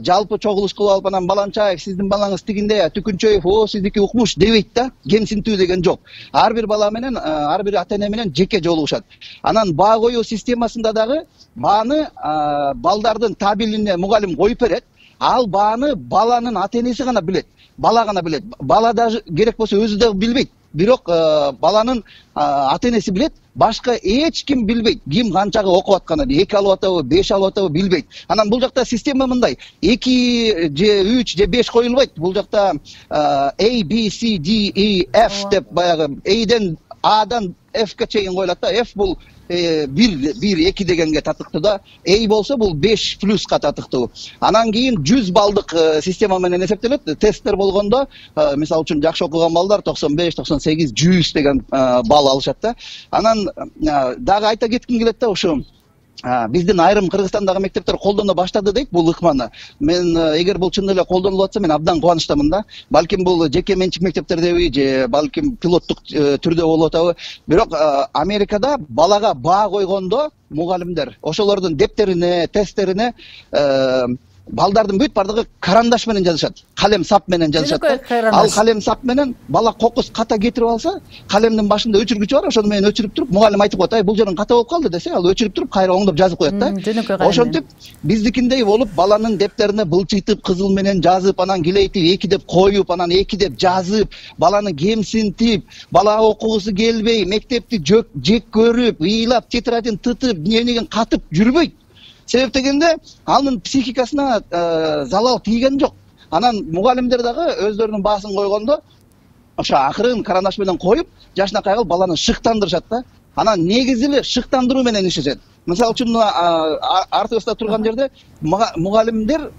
Жалпы чогулуш кылып алып анан Баланчаев сиздин балаңыз тигинде, Түкүнчөев сиздики укмуш дебейт да. Кемсинтүү деген жок. Ар бир бала менен, ар бир ата-эне менен жеке жолугушат. Анан баа коюу системасында дагы бааны балдардын табилине мугалим коюп берет. Ал бааны баланын ата-энеси гана билет. Бала гана билет. Бала даже керек болсо өзү да билбейт. Бирок баланын ата-энеси билет, башка эч ким билбейт. Ким канчага окуп атканын, 2 алып атабы, 5 алып атабы билбейт. Анан бул жакта система мындай: 2 же 3 же 5 коюлбайт. Бул жакта A, B, C, D, E, F деп баягы A'дан F'ке чейин коюлат да. F бул 1-2 дегенге татыктуу да. A болсо бул 5+ татыктуу. Анан кийин 100 балдык система менен эсептелет. Тесттер болгондо, мисалы үчүн жакшы окуган балдар 95, 98, 100 деген балл алышат да. Анан дагы айта кетким келет да, ушу биздин айрым Кыргызстандагы мектептер колдоно баштады дейт бул ыкманы. Мен эгер бул чын эле колдонулуп атса, мен абдан кубанычтамын да. Балким бул жеке менчик мектептердеби же балким пилоттук түрдө болуп атабы. Бирок Америкада балага баа койгондо мугалимдер ошолордун дептерине, тесттерине балдардын бүт бардыгы карандаш менен жазышат. Калем сап менен жазышат. Ал калем сап менен бала кокус ката кетирип алса, калемдин башында өчүргүчү бар, ошону менен өчүрүп туруп, мугалим айтып коет: "Ай, бул жерин ката болуп калды" десе, ал өчүрүп туруп кайра оңдоп жазып коет да. Ошентип биздикиндей болуп, баланын дептерине былчыйтып, кызыл менен жазып, анан килейтип 2 деп коюп, анан 2 деп жазып, баланы кемсинтип, бала окугусу келбей, мектепти жек көрүп, ыйлап, тетрадин тытып, дневнигин катып жүрбөйт. Себеп дегенде анын психикасына залал тийген жок. Анан мугалимдер дагы өздөрүнүн баасын койгондо ошо акырын карандаш менен коюп, жашынакай кылып баланы шыктандырышат да. Анан негизи эле шыктандыруу менен иштешет. Мисалы үчүн артыбызда турган жерде мугалимдер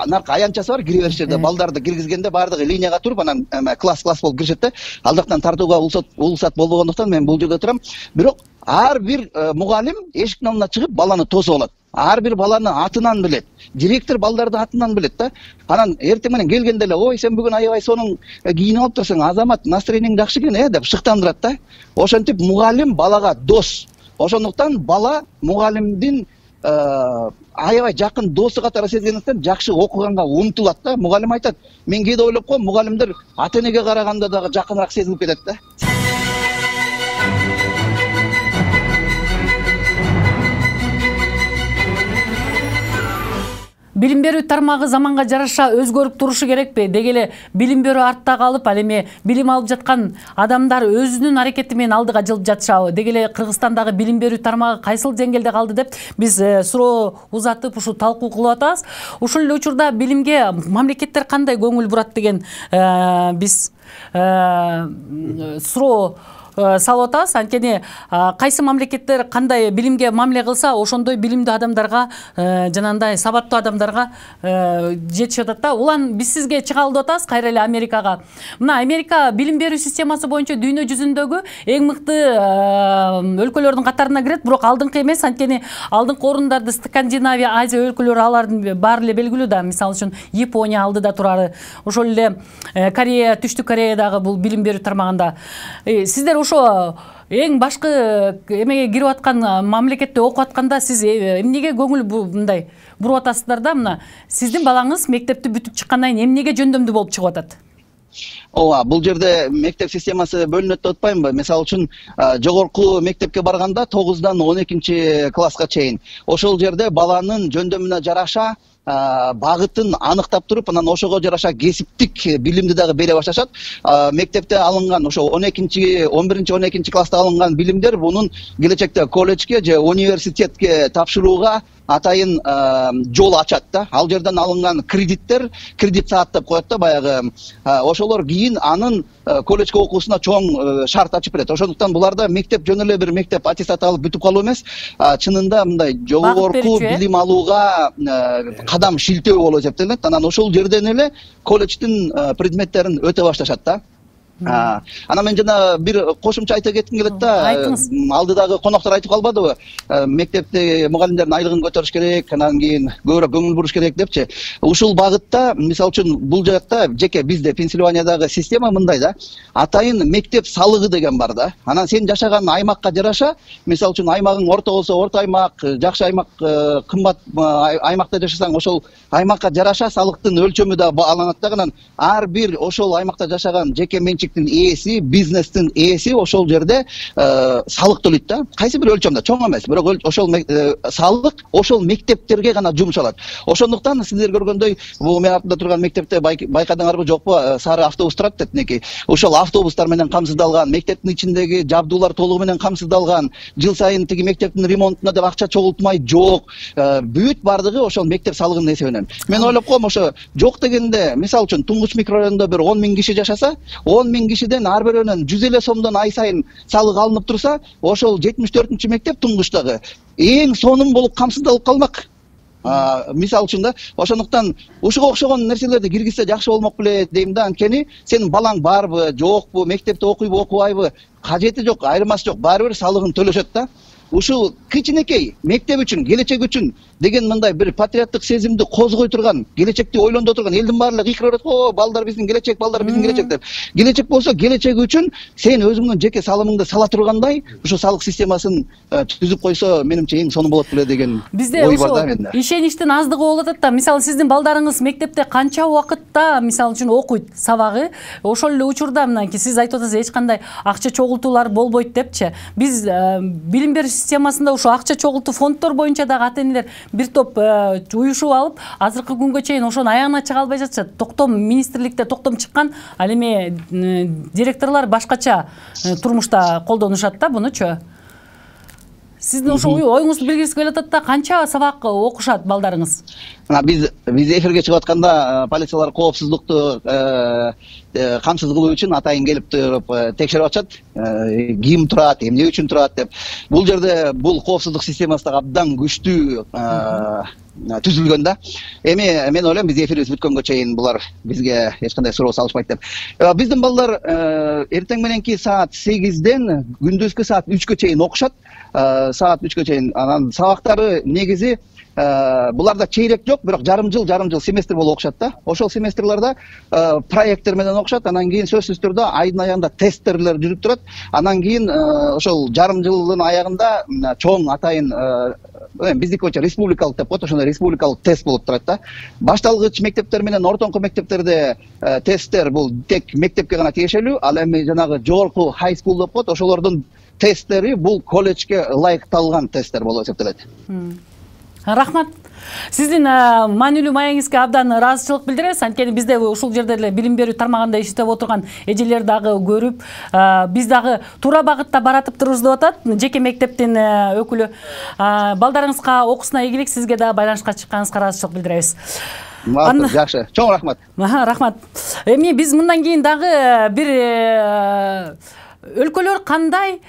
наркы аянтчасы бар, кире бериш жерде балдарды киргизгенде баардыгы линияга туруп, анан класс болуп киришет да. Ал жактан тартууга улусат болбогондуктан мен бул жерде турам. Бирок ар бир мугалим эшиктин алдына чыгып баланы тосуп алат. Ар бир баланы атынан билет. Директор балдарды атынан билет да. Анан эртең менен келгенде эле: "Ой, сен бүгүн аябай сонун кийинип алып турсуң, азамат, настроениең жакшы экен, деп шыктандырат да. Ошентип мугалим балага дос. Ошондуктан бала мугалимдин аябай жакын досу катары сезгендиктен жакшы окуганга умтулат да. Мугалим айтат: "Мен кээде ойлоп коем, мугалимдер ата-энеге караганда дагы жакыныраак сезилип кетет да." Билим берүү тармагы заманга жараша өзгөрүп турушу керекпи? Деги эле билим берүү артта калып, ал эми билим алып жаткан адамдар өзүнүн аракети менен алдыга жылып жатышабы? Деги эле Кыргызстандагы билим берүү тармагы кайсыл деңгээлде калды деп биз суроо узатып, ушу талкуу кылып атабыз. Ушул эле учурда билимге мамлекеттер кандай көңүл бурат деген биз суроо салып атабыз. Анткени кайсы мамлекеттер кандай билимге мамиле кылса, ошондой билимдүү адамдарга, жанагындай сабаттуу адамдарга жетишип атат да. Улан биз сизге чыгалып атабыз кайра эле Америкага. Мына Америка билим берүү системасы боюнча дүйнө жүзүндөгү эң мыкты өлкөлөрдүн катарына кирет, бирок алдыңкы эмес. Анткени алдыңкы орундарды Скандинавия, Азия өлкөлөрү алардын баары эле белгилүү да. Мисалы үчүн Япония алдыда турары. Ошол эле Корея, Түштүк Кореядагы бул билим берүү тармагында. Сиздер ошо эң башкы эмеге кирип аткан мамлекетте окуп атканда сиз эмнеге көңүл мындай буруп атасыздар да? Мына сиздин балаңыз мектепти бүтүп чыккандан кийин эмнеге жөндөмдүү болуп чыгып атат? Ооба, бул жерде мектеп системасы бөлүнөт деп атпаймынбы? Мисалы үчүн жогорку мектепке барганда 9-дан 12 класска чейин ошол жерде баланын жөндөмүнө жараша багытын аныктап туруп, анан ошого жараша кесиптик билимди дагы бере башташат. Мектепте алынган ошо 11-12 класста алынган билимдер мунун келечекте колледжге же университетке тапшырууга атайын жол ачат да. Ал жерден алынган кредит саат деп коет да баягы. Ошолор кийин анын колледжге окуусуна чоң шарт ачып берет. Ошондуктан буларда мектеп жөн эле бир мектеп аттестат алып бүтүп калуу эмес, чынында мындай жогорку билим алууга кадам шилтөө болуп эсептелет. Анан ошол жерден эле колледждин предметтерин өтө башташат да. Анан мен жана бир кошумча айта кетким келет да. Алдыдагы коноктор айтып калбадыбы? Мектепте мугалимдердин айлыгын көтөрүш керек, анан кийин көбүрөөк көңүл буруш керек депчи. Ушул багытта, мисалы үчүн, бул жакта жеке бизде Пенсильваниядагы система мындай да. Атайын мектеп салыгы деген бар да. Анан сен жашаган аймакка жараша, мисалы үчүн аймагың орто болсо орто аймак, жакшы аймак, кымбат аймакта жашасаң ошол аймакка жараша салыктын өлчөмү да алынат да. Анан ар бир ошол аймакта жашаган жеке менчиктин ээси, бизнестин ээси ошол жерде салык төлөйт да. Кайсы бир өлчөмдө, чоң эмес, бирок ошол салык ошол мектептерге гана жумшалат. Ошондуктан сиздер көргөндөй, бул мен артында турган мектепте байкадыңарбы жокпу, сары автобус турат детинеки. Ошол автобустар менен камсыздалган, мектептин ичиндеги жабдуулар толугу менен камсыздалган, жыл сайын тиги мектептин ремонтуна деп акча чогултмай жок. Бүт бардыгы ошол мектеп салыгынын эсебинен. Мен ойлоп коем, ошо жок дегенде, мисалы үчүн Туңгуч микрорайонунда бир 10 000 киши жашаса, 10 000 кишиден ар бирөөнөн 150 сомдон ай сайын салык алынып турса, ошол 74-чү мектеп Туңгучтагы эң сонун болуп камсыздалып калмак. Мисалы үчүн да, ошондуктан ушуга окшогон нерселерди киргизсе жакшы болмок беле дейм да. Анткени сенин балаң барбы, жокпу, мектепте окуйбу, окубайбы, кажети жок, айырмасы жок, баары бир салыгын төлөшөт да. Ушул кичинекей мектеп үчүн, келечек үчүн деген мындай бир патриоттук сезимди козгой турган, келечекти ойлондо турган, элдин баары эле кыйкырып атат, "О, балдар биздин келечек, балдар биздин келечек" деп. Келечек болсо, келечек үчүн сен өзүңдүн жеке салымыңды сала тургандай, ушу салык системасын түзүп койсо, менимче эң сонун болот беле деген ой бар да менде. Ишеничтин аздыгы болуп атат да. Мисалы, сиздин балдарыңыз мектепте канча убакытта, мисалы үчүн, окуйт сабагы? Ошол эле учурда мынакей сиз айтып атасыз, эч кандай акча чогултуулар болбойт депчи. Биз билим берүү системасында ушу акча чогултуу фонддор боюнча дагы ата-энелер бир топ уюшуп алып, азыркы күнгө чейин ошону аягына чыга албай жатышат. Токтом министрликте токтом чыккан, ал эми директорлор башкача турмушта колдонушат да бунучу. Сиздин ошо оюңузду билгиңиз келип атат да, канча сабак окушат балдарыңыз? Биз эфирге чыгып атканда полициялар коопсуздукту камсыз кылуу үчүн атайын келип туруп текшерип атышат. Ким турат, эмне үчүн турат деп. Бул жерде бул коопсуздук системасы да абдан күчтүү түзүлгөн да. Эми мен ойлойм, биз эфирибиз бүткөнгө чейин булар бизге эч кандай суроо салышпайт деп. Биздин балдар эртең мененки саат 8-ден күндүзгү саат 3-кө чейин окушат. Саат 3-кө чейин. Анан сабактары негизи буларда чейрек жок, бирок жарым жыл семестр болуп окушат да. Ошол семестрларда проекттер менен окушат, анан кийин сөзсүз түрдө айдын аягында тесттерлер жүрүп турат. Анан кийин ошол жарым жылдын аягында чоң атайын биздики боюнча республикалык деп коет, ошондой республикалык тест болуп турат да. Башталгыч мектептер менен ортоңку мектептерде тесттер бул тек мектепке гана тиешелүү, ал эми жанагы жогорку high school деп коет, ошолордун тесттери бул колледжге ылайыкталган тесттер болуп эсептелет. Рахмат. Сиздин маанилүү маегиңизге абдан ыраазычылык билдиребиз. Анткени бизде ушул жерде эле билим берүү тармагында иштеп отурган эжелер дагы көрүп, биз дагы туура багытта баратып турубуз деп атат жеке мектептин өкүлү. Балдарыңызга окуусуна ийгилик, сизге да байланышка чыкканыңызга ыраазычылык билдиребиз. Жакшы, чоң рахмат. Рахмат. Эми биз мындан кийин дагы бир өлкөлөр кандай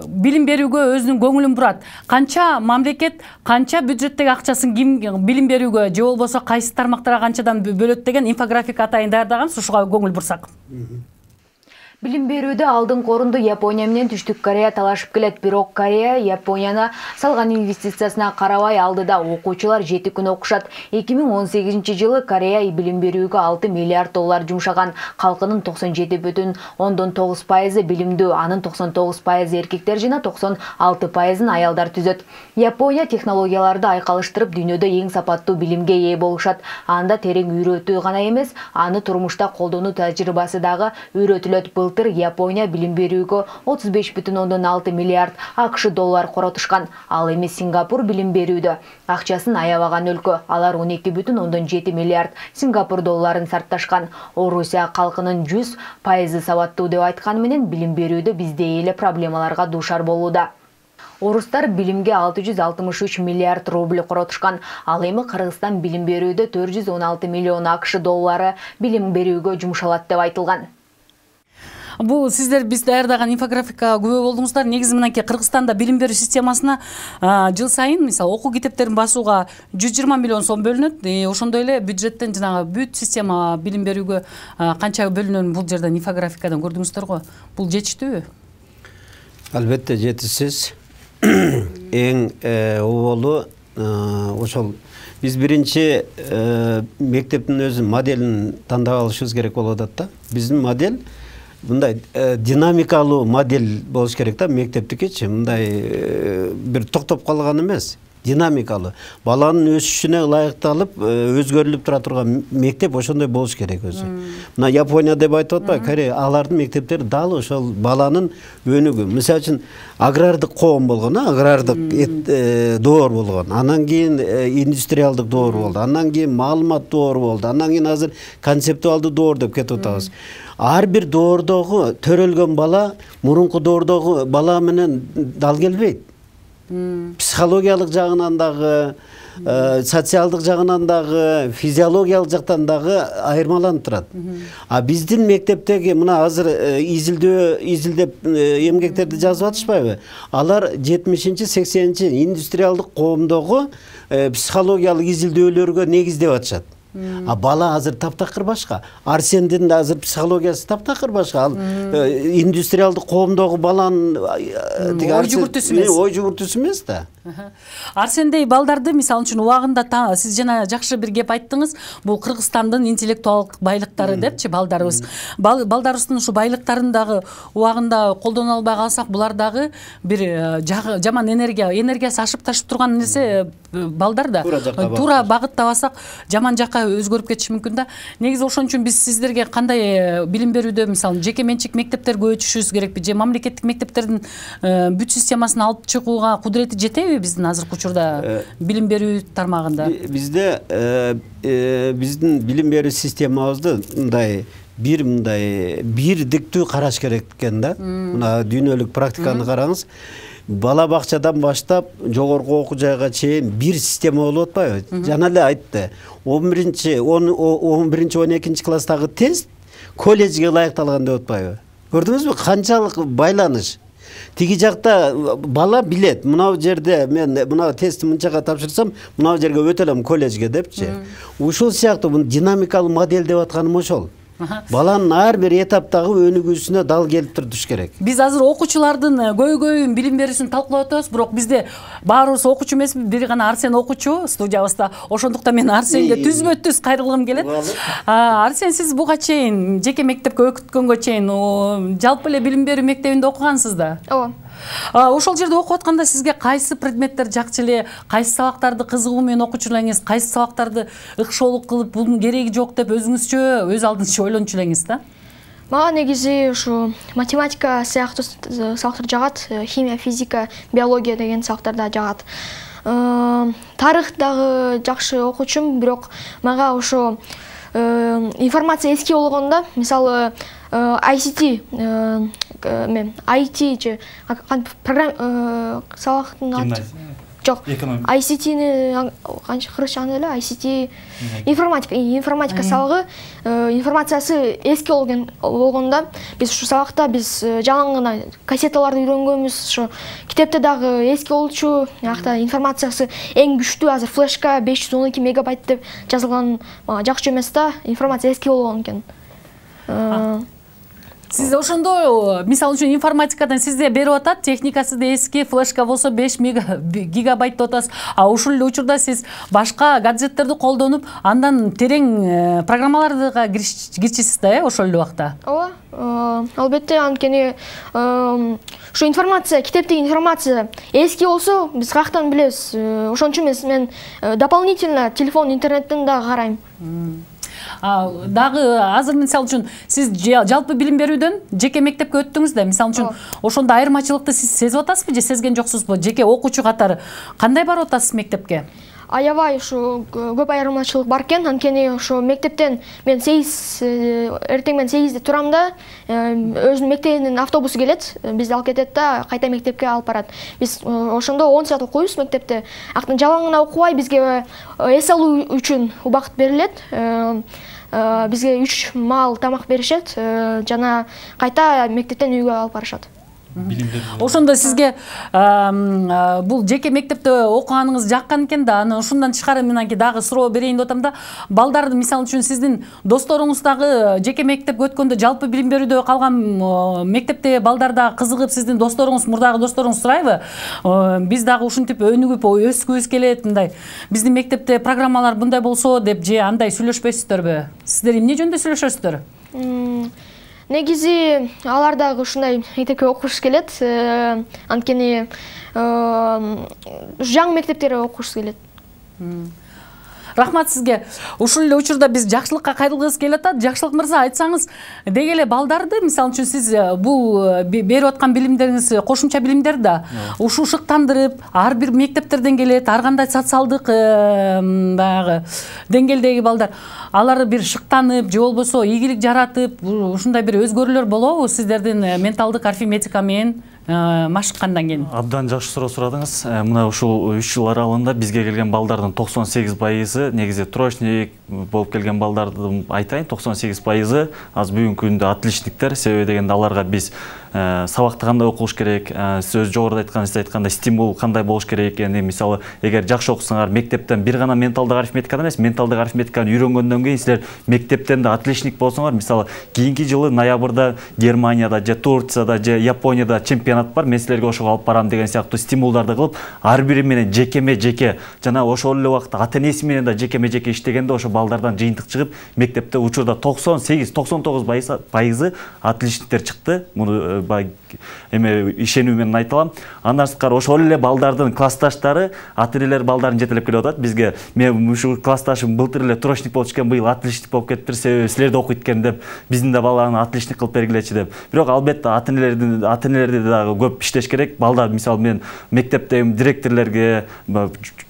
билим берүүгө өзүнүн көңүлүн бурат? Канча мамлекет, канча бюджеттеги акчасын ким билим берүүгө же болбосо кайсы тармактарга канчадан бөлөт деген инфографика атайын даярдаган, ушуга көңүл бурсак. Билим берүүдө алдыңкы орунду Япония менен Түштүк Корея талашып келет, бирок Корея Японияны салган инвестициясына карабай алдыда. Окуучулар 7 күн окушат. 2018-жылы Корея билим берүүгө 6 миллиард доллар жумшаган. Калкынын 97,9% билимдүү, анын 99% эркектер жана 96% аялдар түзөт. Япония технологияларды айкалыштырып, дүйнөдө эң сапаттуу билимге ээ болушат. Анда терең үйрөтүү гана эмес, аны турмушта колдонуу тажрыйбасы дагы үйрөтүлөт. Япония билим берүүгө 35,6 миллиард АКШ доллар коротушкан. Ал эми Сингапур билим берүүдө акчасын аябаган өлкө. Алар 12,7 миллиард Сингапур долларын сарпташкан. Орусия калкынын 100% сабаттуу деп айтканы менен билим берүүдө бизде эле проблемаларга дуушар болууда. Орустар билимге 663 миллиард рубль коротушкан. Ал эми Кыргызстан билим берүүдө 416 миллион АКШ доллары билим берүүгө жумшалат деп айтылган. Бул сиздер биз даярдаган инфографикага күбө болдуңуздар. Негизи мынакей Кыргызстанда билим берүү системасына жыл сайын мисалы окуу китептерин басууга 120 миллион сом бөлүнөт. Ошондой эле бюджеттен жанагы бүт система билим берүүгө канча бөлүнөтүн бул жерден инфографикадан көрдүңүздөр го. Бул жетиштүүбү? Албетте жетишсиз. Эң оболу ошол биз биринчи мектептин өзүнүн моделин тандап алышыбыз керек болуп атат да. Биздин модель мындай динамикалуу модель болуш керек да, мектептикичи мындай бир токтоп калган эмес, динамикалуу. Баланын өсүшүнө ылайыкталып, өзгөрүлүп тура турган мектеп ошондой болуш керек өзү. Мына Япония деп айтып атпайбы, Корея, алардын мектептери дал ошол баланын өнүгүү. Мисалы үчүн агрардык коом болгон, агрардык доор болгон. Анан кийин индустриалдык доор болду. Анан кийин маалымат доору болду. Анан кийин азыр концептуалдуу доор деп кетип атабыз. Ар бир доордогу төрөлгөн бала мурунку доордогу бала менен дал келбейт. Психологиялык жагынан дагы, социалдык жагынан дагы, физиологиялык жактан дагы айырмаланып турат. А биздин мектептеги мына азыр изилдеп эмгектерди жазып атышпайбы? Алар 70-80 индустриалдык коомдогу психологиялык изилдөөлөргө негиздеп атышат. А бала азыр таптакыр башка. Арсендин да азыр психологиясы таптакыр башка. Ал индустриалдык коомдогу баланын ой жүгүртүүсү эмес да. Арсендей балдарды мисалы үчүн убагында сиз жана жакшы бир кеп айттыңыз. Бул Кыргызстандын интеллектуалдык байлыктары депчи балдарыбыз. Балдарыбыздын ушу байлыктарын дагы убагында колдоно албай калсак, булар дагы бир жаман энергиясы ашып ташып турган нерсе балдар да. Туура багыттабасак жаман жакка өзгөрүп кетиши мүмкүн да. Негизи ошон үчүн биз сиздерге кандай билим берүүдө мисалы жеке менчик мектептерге өтүшүбүз керекпи же мамлекеттик мектептердин бүт системасын алып чыгууга кудурети жетеби биздин азыркы учурда билим берүү тармагында? Бизде биздин билим берүү системабызды бирдиктүү караш керек экен да. Мына дүйнөлүк практиканы караңыз. Бала бакчадан баштап жогорку окуу жайга чейин бир система болуп атпайбы? Жана эле айтты. 11-12 класстагы тест колледжге ылайыкталган деп атпайбы? Көрдүңүзбү канчалык байланыш? Тиги жакта бала билет. Мына жерде мен мына тестти мынчага тапшырсам, мына жерге өтө алам колледжге депчи. Ушул сыяктуу бул динамикалык модель деп атканым ошол. Баланын ар бир этаптагы өнүгүүсүнө дал келип туруш керек. Биз азыр окуучулардын көйгөйүн билим берүүсүн талкуулап атабыз, бирок бизде баарыбыз окуучу эмеспиз, бир гана Арсен окуучу студиябызда. Ошондуктан мен Арсенге түзмө-түз кайрылгым келет. Арсен, сиз буга чейин жеке мектепке өкүткөнгө чейин жалпы эле билим берүү мектебинде окугансыз да? Ооба. Ошол жерде окуп атканда сизге кайсы предметтер жакчы эле, кайсы сабактарды кызыгуу менен окучу элеңиз, кайсы сабактарды ыкшоолук кылып бунун кереги жок деп өзүңүзчө өз алдыңызча ойлончу элеңиз да? Мага негизи ушу математика сыяктуу сабактар жагат, химия, физика, биология деген сабактар да жагат. Тарых дагы жакшы окучумун, бирок мага ошо информация эски болгондо, мисалы ICT же программа сабактын Жок, ICT-ни канча кыргызча эле, ICT информатика сабагы, информациясы эски болгондо биз ушу сабакта биз жалаң гана кассеталарды үйрөнгөнбүз. Ошо китепте дагы эски болчу, акта информациясы эң күчтүү азыр флешка 512 мегабайт деп жазылган жакшы эмес да, информация эски болгон экен. Сиз ошондо мисалы үчүн информатикадан сизде берип атат, техникасы да эски, флешка болсо 5 гигабайт деп атасыз. А ушул эле учурда сиз башка гаджеттерди колдонуп, андан терең программаларга кирчисиз да, ошол эле убакта. Ооба, албетте, анткени ушу информация, китептеги информация эски болсо, биз каяктан билебиз. Ошон үчүн мен дополнительно телефон, интернеттен да карайм. Дагы азыр мисалы үчүн сиз жалпы билим берүүдөн жеке мектепке өттүңүз да, мисалы үчүн ошондо айырмачылыкты сиз сезип атасызбы же сезген жоксузбу? Жеке окуучу катары кандай барып атасыз мектепке? Аябай ушу көп айырмачылык бар экен, анткени ошо мектептен мен эртең менен 8-де турам да, өзүнүн мектебинин автобусу келет, бизди алып кетет да, кайта мектепке алып барат. Биз ошондо 10 саат окуйбуз мектепте. Актан жалаң гана окубай, бизге эс алуу үчүн убакыт берилет. Бизге 3 маал тамак беришет, жана кайта мектептен үйгө алып барышат. Ошондо сизге бул жеке мектепте окуганыңыз жаккан экен да, аны ушундан тышкары менен дагы суроо берейин деп атам да. Балдарды мисалы үчүн сиздин досторуңуз дагы жеке мектепке өткөндө жалпы билим берүүдө калган мектепте балдар дагы кызыгып, сиздин досторуңуз, мурдагы досторуңуз сурайбы? Биз дагы ушинтип өнүгүп өскүбүз келет, мындай. Биздин мектепте программалар мындай болсо деп же андай сүйлөшпөйсүздөрбү? Сиздер эмне жөнүндө сүйлөшөсүздөр? Негизи алар дагы ушундай мектепке окуш келет, анткени жаңы мектептерде окуш келет. Рахмат сизге. Ушул эле учурда биз жакшылыкка кайрылгыбыз келип атат. Жакшылык мырза, айтсаңыз, деги эле балдарды, мисалы үчүн сиз бул берип аткан билимдериңиз кошумча билимдер да, ушу шыктандырып, ар бир мектептерден келет, ар кандай социалдык баягы деңгээлдеги балдар, алар бир шыктанып, же болбосо ийгилик жаратып, ушундай бир өзгөрүүлөр болобу сиздердин менталдык арифметика менен машыккандан кийин? Абдан жакшы суроо сурадыңыз. Мына ушул 3 жыл аралыгында бизге келген балдардын 98% негизи троечник болуп келген балдардын айтайын, 98% аз бүгүнкү күндө отличниктер. Себеби дегенде аларга биз сабакты кандай окуш керек, сиз жогоруда айткандай стимул кандай болуш керек экени, мисалы, эгер жакшы окусаңар мектептен бир гана менталдык арифметикадан эмес, менталдык арифметиканы үйрөнгөндөн кийин силер мектептен да отличник болсоңор, мисалы, кийинки жылы ноябрда Германияда же Турцияда же Японияда чемпионат бар, мен силерге ошого алып барам деген сыяктуу стимулдарды кылып, ар бири менен жекеме-жеке, жана ошол эле убакта ата-энеси менен да жекеме-жеке иштегенде ошо балдардан жыйынтык чыгып, мектепте учурда 98-99% отличниктер чыкты. Муну эме ишенүү менен айта алам. Андан сырткары ошол эле балдардын классташтары, ата-энелер балдарын жетелеп келип атат. Бизге мен ушул классташым былтыр эле троечник болчу экен, быйыл отличник болуп кетиптир, себеби силерде окуйт экен деп, биздин да баланы отличник кылып бергилечи деп. Бирок албетте ата-энелерди дагы көп иштеш керек. Балдар, мисалы, мен мектептеги директорлорго,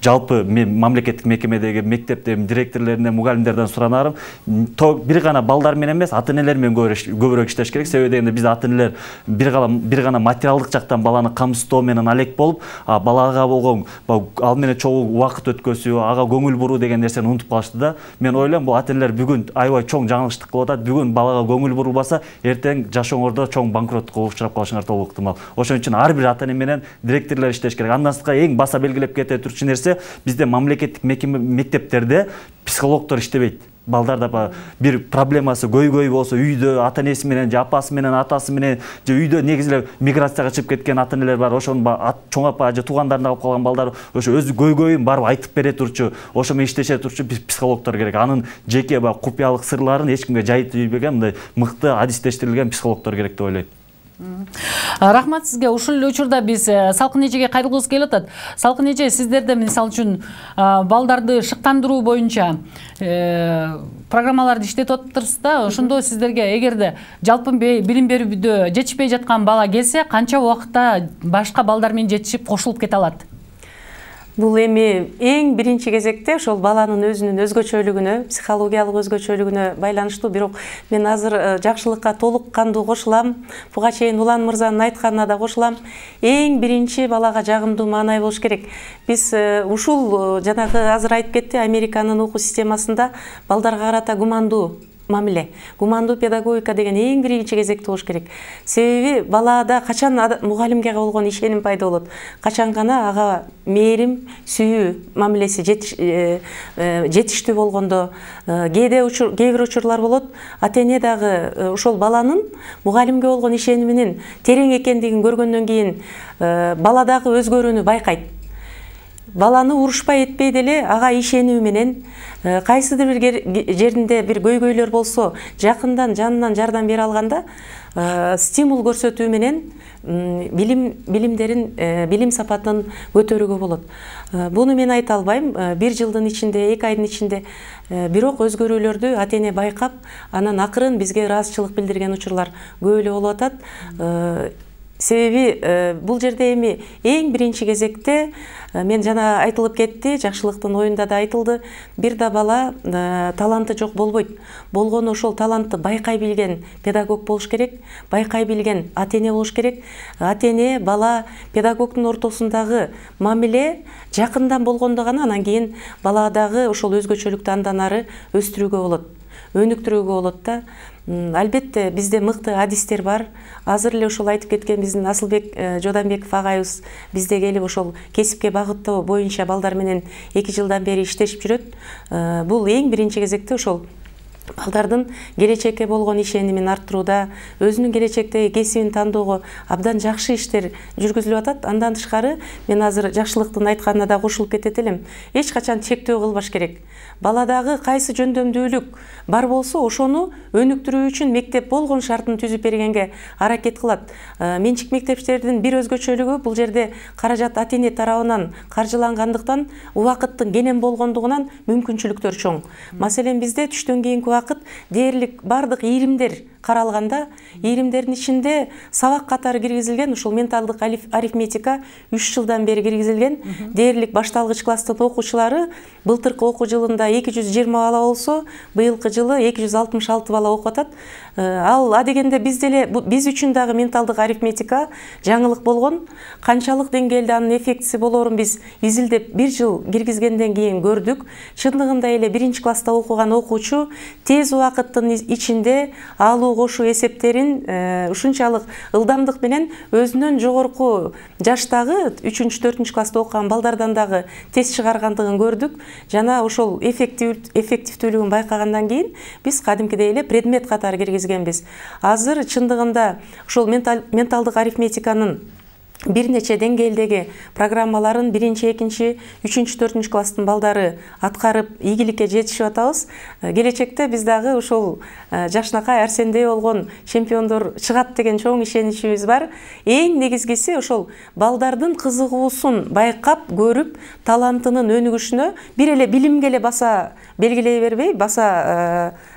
жалпы мен мамлекеттик мекемедеги мектептеги директорлоруна, мугалимдерден суранарым, бир гана балдар менен эмес, ата-энелер менен көбүрөөк иштеш керек. Себеби дегенде биз ата-энелер бир гана материалдык жактан баланы камсыздоо менен алек болуп, балага болгон ал менен чогуу убакыт өткөзүү, ага көңүл буруу деген нерсени унутуп калышты да. Мен ойлойм, бул ата-энелер бүгүн аябай чоң жаңылыштык кылып атат. Бүгүн балага көңүл бурулбаса, эртең жашооңордо чоң банкроттукка учурап калышыңар толук ыктымал. Ошон үчүн ар бир ата-эне менен директорлор иштеш керек. Андан сырткары эң баса белгилеп кете турчу нерсе, бизде мамлекеттик мектептерде психологдор иштебейт. Балдарда бир проблемасы көйгөй болсо, үйдө ата-энеси менен же апасы менен, атасы менен же үйдө негизи эле миграцияга чыгып кеткен ата-энелер бар. Ошонун чоң апа же туугандарына калып калган балдар ошо өз көйгөйүн барып айтып бере турчу, ошо менен иштеше турчу психологдор керек. Анын жеке купуялык сырларын эч кимге жайып ийбеген, мындай мыкты адистештирилген психологдор керек деп ойлойм. Рахмат сизге. Ушул эле учурда биз Салкын эжеге кайрылгыбыз келип атат. Салкын эже, сиздерде мисалы үчүн балдарды шыктандыруу боюнча программаларды иштетип атыптырсыз да. Ошондо сиздерге эгерде жалпы билим берүүдө жетишпей жаткан бала келсе, канча убакытта башка балдар менен жетишип кошулуп кете алат? Бул эми эң биринчи кезекте ошол баланын өзүнүн өзгөчөлүгүнө, психологиялык өзгөчөлүгүнө байланыштуу. Бирок мен азыр жакшылыкка толук кандуу кошулам. Буга чейин Улан мырзанын айтканына да кошулам. Эң биринчи балага жагымдуу маанай болуш керек. Биз ушул жанагы азыр айтып кетти, Американын окуу системасында балдарга карата гумандуу мамиле, гумандуу педагогика деген эң биринчи кезекте болуш керек. Себеби балада качан мугалимге болгон ишеним пайда болот, качан гана ага мээрим, сүйүү мамилеси жетиштүү болгондо. Кээ бир учурлар болот, ата-эне дагы ошол баланын мугалимге болгон ишениминин терең экендигин көргөндөн кийин бала дагы өзгөрүүнү байкайт. Баланы урушпай этпей деле ага ишенүү менен кайсыдыр бир жеринде бир көйгөйлөр болсо жакындан жанынан жардам бере алганда стимул көрсөтүү менен билим сапатын көтөрүүгө болот. Буну мен айта албайм. Бир жылдын ичинде, 2 айдын ичинде, бирок өзгөрүүлөрдү ата-эне байкап, анан акырын бизге ыраазычылык билдирген учурлар көп эле болуп атат. Себеби бул жерде эми эң биринчи кезекте мен жана айтылып кетти, жакшылыктын оюнда да айтылды, бир да бала таланты жок болбойт. Болгону ошол талантты байкай билген педагог болуш керек, байкай билген ата-эне болуш керек. Ата-эне, бала, педагогдун ортосундагы мамиле жакындан болгондо гана анан кийин баладагы ошол өзгөчөлүктү андан ары өстүрүүгө болот, өнүктүрүүгө болот да. Албетте бизде мыкты адистер бар. Азыр эле ошол айтып кеткен биздин Асылбек Жоданбеков агайыбыз бизде келип ошол кесипке багыттоо боюнча балдар менен 2 жылдан бери иштешип жүрөт. Бул эң биринчи кезекте ошол балдардын келечекке болгон ишенимин арттырууда, өзүнүн келечектеги кесибин тандоого абдан жакшы иштер жүргүзүлүп атат. Андан тышкары мен азыр жакшылыктын айтканына да кошулуп кетет элем. Эч качан чектөө кылбаш керек. Баладагы кайсы жөндөмдүүлүк бар болсо, ошону өнүктүрүү үчүн мектеп болгон шартын түзүп бергенге аракет кылат. Менчик мектептердин бир өзгөчөлүгү бул жерде каражат ата-эне тарабынан каржылангандыктан убакыттын кенен болгондугунан мүмкүнчүлүктөр чоң. Маселен, бизде түштөн кийинки убакыт дээрлик бардык ийримдер каралганда, ийримдердин ичинде сабак катары киргизилген ушул менталдык арифметика 3 жылдан бери киргизилген. Дээрлик башталгыч класстын окуучулары былтыркы окуу жылында 220 бала болсо, быйылкы жылы 266 бала окуп атат. Ал адегенде биз үчүн дагы менталдык арифметика жаңылык болгон. Канчалык деңгээлде анын эффектиси болорун биз изилдеп 1 жыл киргизгенден кийин көрдүк. Чындыгында эле 1 класста окуган окуучу тез убакыттын ичинде алуу кошуу эсептерин ушунчалык ылдамдык менен өзүнөн жогорку жаштагы 3-4 класста окуган балдардан дагы тез чыгаргандыгын көрдүк. Жана ошол эффективдүүлүгүн байкагандан кийин биз кадимкидей эле предмет катары киргизгенбиз. Азыр чындыгында ошол менталдык арифметиканын бир нече деңгээлдеги программаларын 1-2, 3-4 класстын балдары аткарып ийгиликке жетишип атабыз. Келечекте биз дагы ушул жакшынакай Арсендей болгон чемпиондор чыгат деген чоң ишеничибиз бар. Эң негизгиси ошол балдардын кызыгуусун байкап, көрүп, талантынын өнүгүшүнө бир эле билимге эле баса белгилей бербей,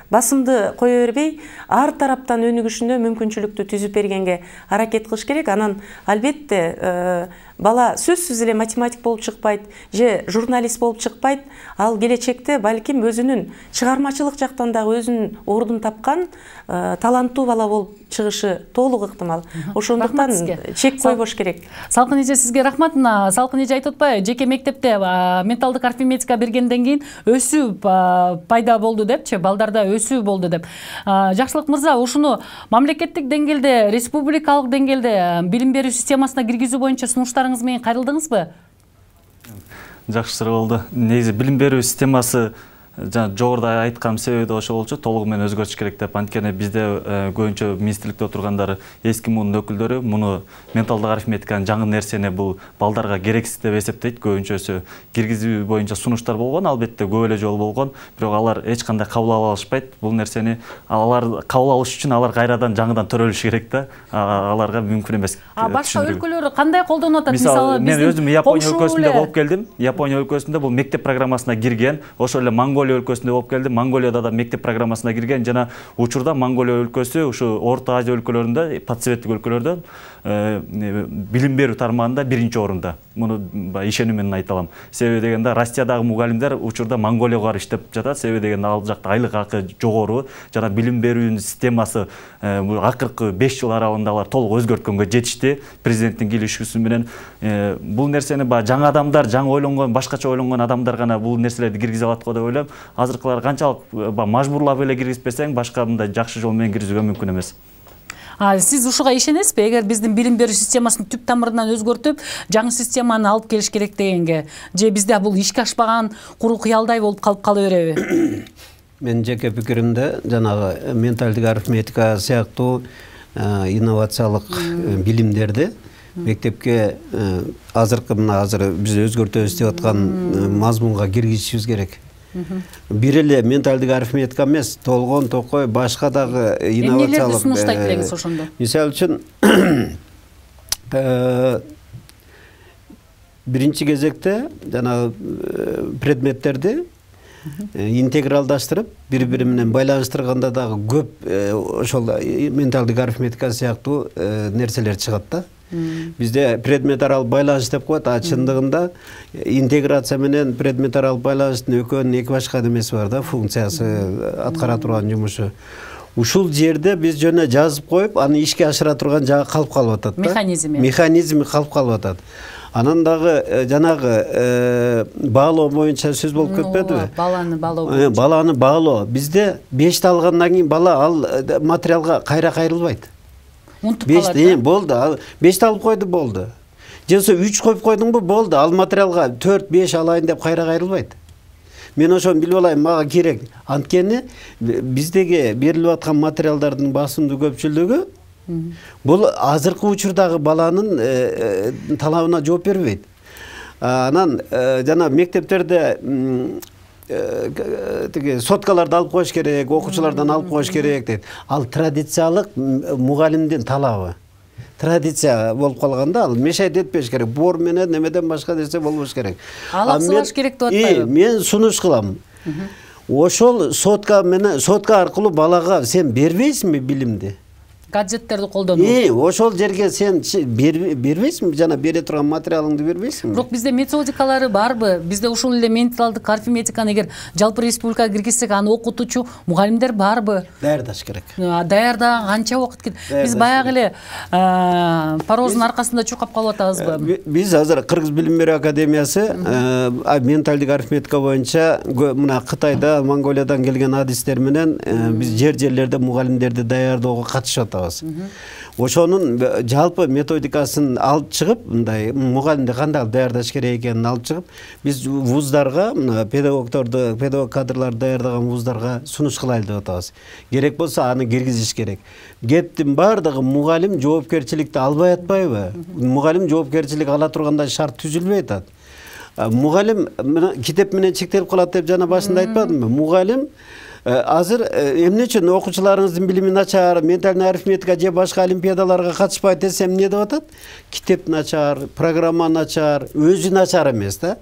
басымды кое бербей, ар тараптан өнүгүшүнө мүмкүнчүлүктү түзүп бергенге аракет кылыш керек. Анан албетте бала сөзсүз эле математик болуп чыкпайт же журналист болуп чыкпайт. Ал келечекте балким өзүнүн чыгармачылык жактан дагы өзүнүн ордун тапкан таланттуу бала болуп чыгышы толук ыктымал. Ошондуктан чек койбош керек. Салкын эже, сизге рахмат. Салкын эже айтып атпайбы, жеке мектепте менталдык арифметика бергенден кийин өсүү пайда болду депчи, балдарда өсүү болду деп. Жакшылык мырза, ушуну мамлекеттик деңгээлде, республикалык деңгээлде билим берүү системасына киргизүү боюнча сунуштарыңыз менен кайрылдыңызбы? Жакшы суроо болду. Негизи билим берүү системасы жогоруда айткан себеби да ошол болчу, толугу менен өзгөртүш керек деп. Анткени бизде көбүнчө министрликте отургандар эски муунун өкүлдөрү муну менталдык арифметиканын жаңы нерсени бул балдарга керексиз деп эсептейт. Көбүнчөсү киргизүү боюнча сунуштар болгон, албетте көп эле жолу болгон, бирок алар эч кандай кабыл ала алышпайт бул нерсени. Алар кабыл алыш үчүн алар кайрадан жаңыдан төрөлүшү керек да. Аларга мүмкүн эмес. Башка өлкөлөр кандай колдонуп атат? Мисалы мен өзүм Япония өлкөсүндө болуп келдим. Япония өлкөсүндө бул мектеп программасына кирген, ошол эле Монголия Монголия өлкөсүндө болуп келди. Монголияда да мектеп программасына кирген жана учурда Монголия өлкөсү ушу Орто Азия өлкөлөрүндө, подсоветтик өлкөлөрдө билим берүү тармагында 1-орунда. Муну ишенүү менен айта алам. Себеби дегенде Россиядагы мугалимдер учурда Монголияга барып иштеп жатат. Себеби дегенде ал жакта айлык акы жогору жана билим берүүнүн системасы акыркы 5 жыл аралыгында алар толук өзгөрткөнгө жетишти. Президенттин киришүүсү менен бул нерсени жаңы адамдар, жаңы ойлонгон, башкача ойлонгон адамдар гана бул нерселерди киргизе алат го деп ойлойм. Азыркылар канчалык мажбурлап эле киргизбесең, башка мындай жакшы жол менен киргизүүгө мүмкүн эмес. Сиз ушуга ишенесизби? Эгер биздин билим берүү системасын түп тамырынан өзгөртүп, жаңы системаны алып келиш керек дегенге, же бизде бул ишке ашпаган куру кыялдай болуп калып кала береби? Менин жеке пикиримде жанагы менталдык арифметика сыяктуу инновациялык билимдерди мектепке азыр биз өзгөртөбүз деп аткан мазмунга киргизишибиз керек. Бир эле менталдык арифметика эмес, толгон токой башка дагы инновациялык. Эмнелерди сунуштайт элеңиз ошондо? Мисалы үчүн биринчи кезекте жанагы предметтерди интегралдаштырып, бири-бири менен байланыштырганда дагы көп ошол менталдык арифметика сыяктуу нерселер чыгат да. Бизде предмет аралык байланыш деп коет, чындыгында интеграция менен предмет аралык байланыштын экөөнүн эки башка немеси бар да, функциясы, аткара турган жумушу. Ушул жерде биз жөнө жазып коюп, аны ишке ашыра турган жагы калып атат да. Механизми калып атат. Анан дагы жанагы баалоо боюнча сөз болуп кетпедиби? Баланы баалоо. Бизде 5 алгандан кийин бала ал материалга кайра кайрылбайт. Унутуп калат. Болду. 5 алып койду, болду. Же 3 коюп койдуңбу, болду. Ал материалга 4-5 алайын деп кайра кайрылбайт. Мен ошону билип алайын, мага керек. Анткени биздеги берилип аткан материалдардын басымдуу көпчүлүгү бул азыркы учурдагы баланын талабына жооп бербейт. Анан жана мектептерде соткаларды алып коюш керек, окуучулардан алып коюш керек дейт. Ал традициялык мугалимдин талабы. Традиция болуп калганда ал мешайт этпеш керек. Бор менен немеден башка нерсе болбош керек. Ал аксылаш керек деп атпайбы? Мен сунуш кылам. Ошол сотка аркылуу балага сен бербейсиңби билимди? Гаджеттерди колдонуу. Ошол жерге сен бербейсиңби? Жана бере турган материалыңды бербейсиңби? Бирок бизде методикалары барбы? Бизде ушул эле менталдык арифметиканы эгер жалпы республикага киргизсек, аны окутуучу мугалимдер барбы? Даярдаш керек. Даярда канча убакыт кетет? Биз баягы эле пароздун аркасында чуркап калып атабызбы? Биз азыр Кыргыз билим берүү академиясы менталдык арифметика боюнча мына Кытайда, Монголиядан келген адистер менен биз жерлерде мугалимдерди даярдоого катышып Ошонун жалпы методикасын алып чыгып, мындай мугалимди кандай даярдаш керек экенин алып чыгып, биз вуздарга, педагог кадрларды даярдаган вуздарга сунуш кылайлы деп атабыз. Керек болсо аны киргизиш керек. Кептин бардыгы мугалим жоопкерчиликти албай атпайбы? Мугалим жоопкерчилик ала тургандай шарт түзүлбөй атат. Мугалим китеп менен чектелип калат деп жана башында айтпадымбы? Мугалим азыр эмне үчүн окуучуларыңыздын билими начар, ментальный арифметика же башка олимпиадаларга катышпайт десем эмне деп атат? Китеп начар, программа начар, өзү начар эмес да.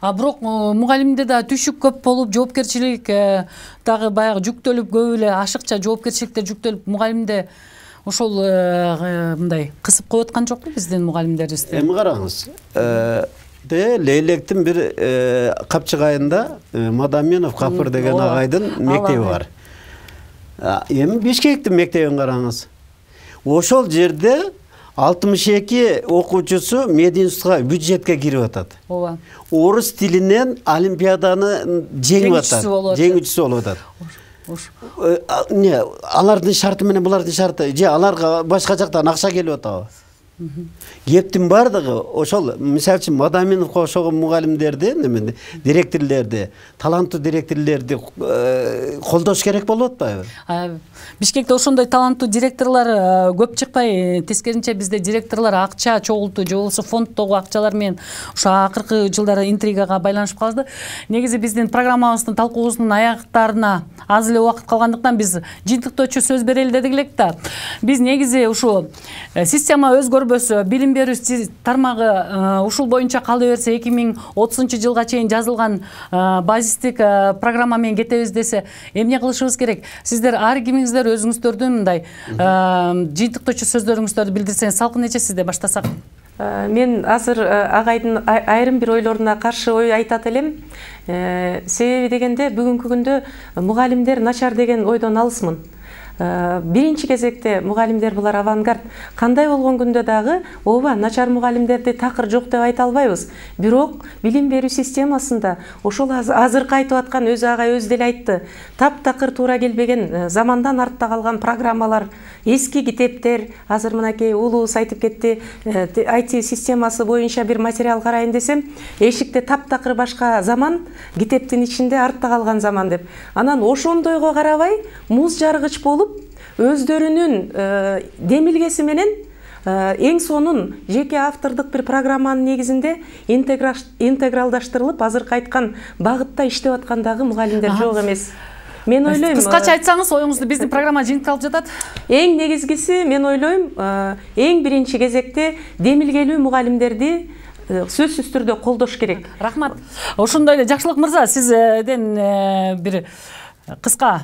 Бирок мугалимде да түшүк көп болуп, жоопкерчилик дагы баягы жүктөлүп, көп эле ашыкча жоопкерчиликтер жүктөлүп, мугалимде ошол мындай кысып коюп аткан жокпу биздин мугалимдерибизди? Эми караңыз. Лейлектин бир Капчыгайында Мадаминов Капыр деген агайдын мектеби бар. Эми Бишкектин мектебин караңыз. Ошол жерде 62 окуучусу мединститутка, бюджетке кирип атат. Ооба. Орус тилинен олимпиаданы жеңип атат. Жеңүүчүсү болуп атат. Алардын шарты менен булардын шарты, же аларга башка жактан акча келип атабы? Кептин бардыгы ошол, мисалы үчүн Мадаминовго окшогон мугалимдерди, директорлорду, таланттуу директорлорду колдош керек болуп атпайбы? Бишкекте ошондой таланттуу директорлор көп чыкпай, тескерисинче бизде директорлор акча чогултуу, же болбосо фонддогу акчалар менен ошо акыркы жылдары интригага байланышып калды. Негизи биздин программабыздын талкуусунун аяктарына аз эле убакыт калгандыктан биз жыйынтыктоочу сөз берели дедик элек да. Биз негизи ушу система өзгөрбөй көрбөсө, билим берүү тармагы ушул боюнча кала берсе 2030-жылга чейин жазылган базистик программа менен кетебиз десе, эмне кылышыбыз керек? Сиздер ар кимиңиздер өзүңүздөрдүн мындай жыйынтыктоочу сөздөрүңүздөрдү билдирсеңиз, салкын эже сизде баштасак. Мен азыр агайдын айрым бир ойлоруна каршы ой айтат элем. Себеби дегенде бүгүнкү күндө мугалимдер начар деген ойдон алысмын. Биринчи кезекте мугалимдер булар авангард. Кандай болгон күндө дагы ооба начар мугалимдерди такыр жок деп айта албайбыз. Бирок билим берүү системасында ошол азыркы айтып аткан өзү агай өзү деле айтты. Таптакыр туура келбеген, замандан артта калган программалар, эски китептер, азыр мынакей улуубуз айтып кетти, IT системасы боюнча бир материал карайын десем, эшикте таптакыр башка заман, китептин ичинде артта калган заман деп. Анан ошондойго карабай, муз жаргыч болуп, өздөрүнүн демилгеси менен эң сонун жеке автордук бир программанын негизинде интегралдаштырылып, азыркы айткан багытта иштеп аткандагы мугалимдер жок эмес. Мен ойлойм, кыскача айтсаңыз, оюңузду биздин программа жыйынтыкталып жатат. Эң негизгиси, мен ойлойм, эң биринчи кезекте демилгелүү мугалимдерди сөзсүз түрдө колдош керек. Рахмат. Ошондой эле Жакшылык мырза, сизден бир кыска.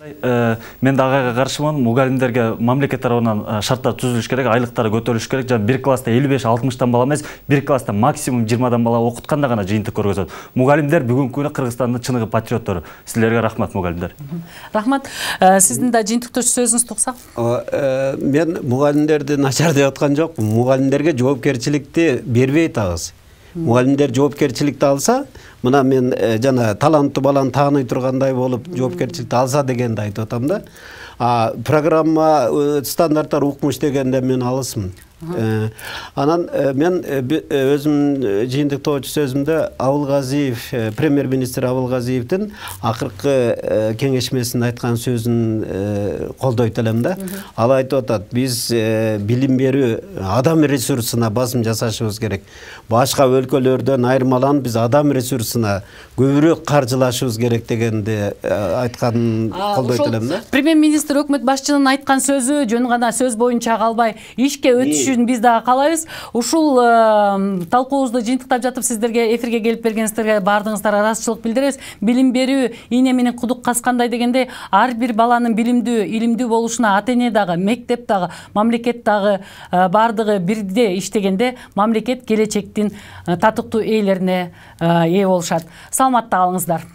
Мен да агайга каршымын. Мугалимдерге мамлекет тарабынан шарттар түзүлүш керек, айлыктары көтөрүлүш керек. Жана бир класста 55-60 бала эмес, бир класста максимум 20 бала окутканда гана жыйынтык көргөзөт. Мугалимдер бүгүнкү күндө Кыргызстандын чыныгы патриоттору. Силерге рахмат, мугалимдер. Рахмат. Сиздин да жыйынтыктоочу сөзүңүздү уксак. Мен мугалимдерди начар деп аткан жокмун. Мугалимдерге жоопкерчиликти бербей атабыз. Мугалимдер жоопкерчиликти алса, мына мен жана таланттуу баланы тааный тургандай болуп жоопкерчиликти алса дегенди айтып атам да. Программа стандарттар укмуш дегенде мен алысмын. Анан мен өзүм жыйынтыктоочу сөзүмдө Абылгазиев, премьер-министр Абылгазиевдин акыркы кеңешмесинде айткан сөзүн колдойт элем да. Ал айтып атат, биз билим берүү адам ресурсуна басым жасашыбыз керек. Башка өлкөлөрдөн айырмаланып биз адам ресурсуна көбүрөөк каржылашыбыз керек дегенди айтканын колдойт элем да. Премьер-министр өкмөт башчынын айткан сөзү жөн гана сөз боюнча калбай, ишке өтүш биз дагы каалайбыз. Ушул талкуубузду жыйынтыктап жатып сиздерге эфирге келип бергениңиздерге баардыгыңыздарга ыраазычылык билдиребиз. Билим берүү ийне менен кудук каскандай дегенде, ар бир баланын билимдүү, илимдүү болушуна ата-эне дагы, мектеп дагы, мамлекет дагы баардыгы бирдей иштегенде, мамлекет келечектин татыктуу ээлерине ээ болушат. Саламатта калыңыздар.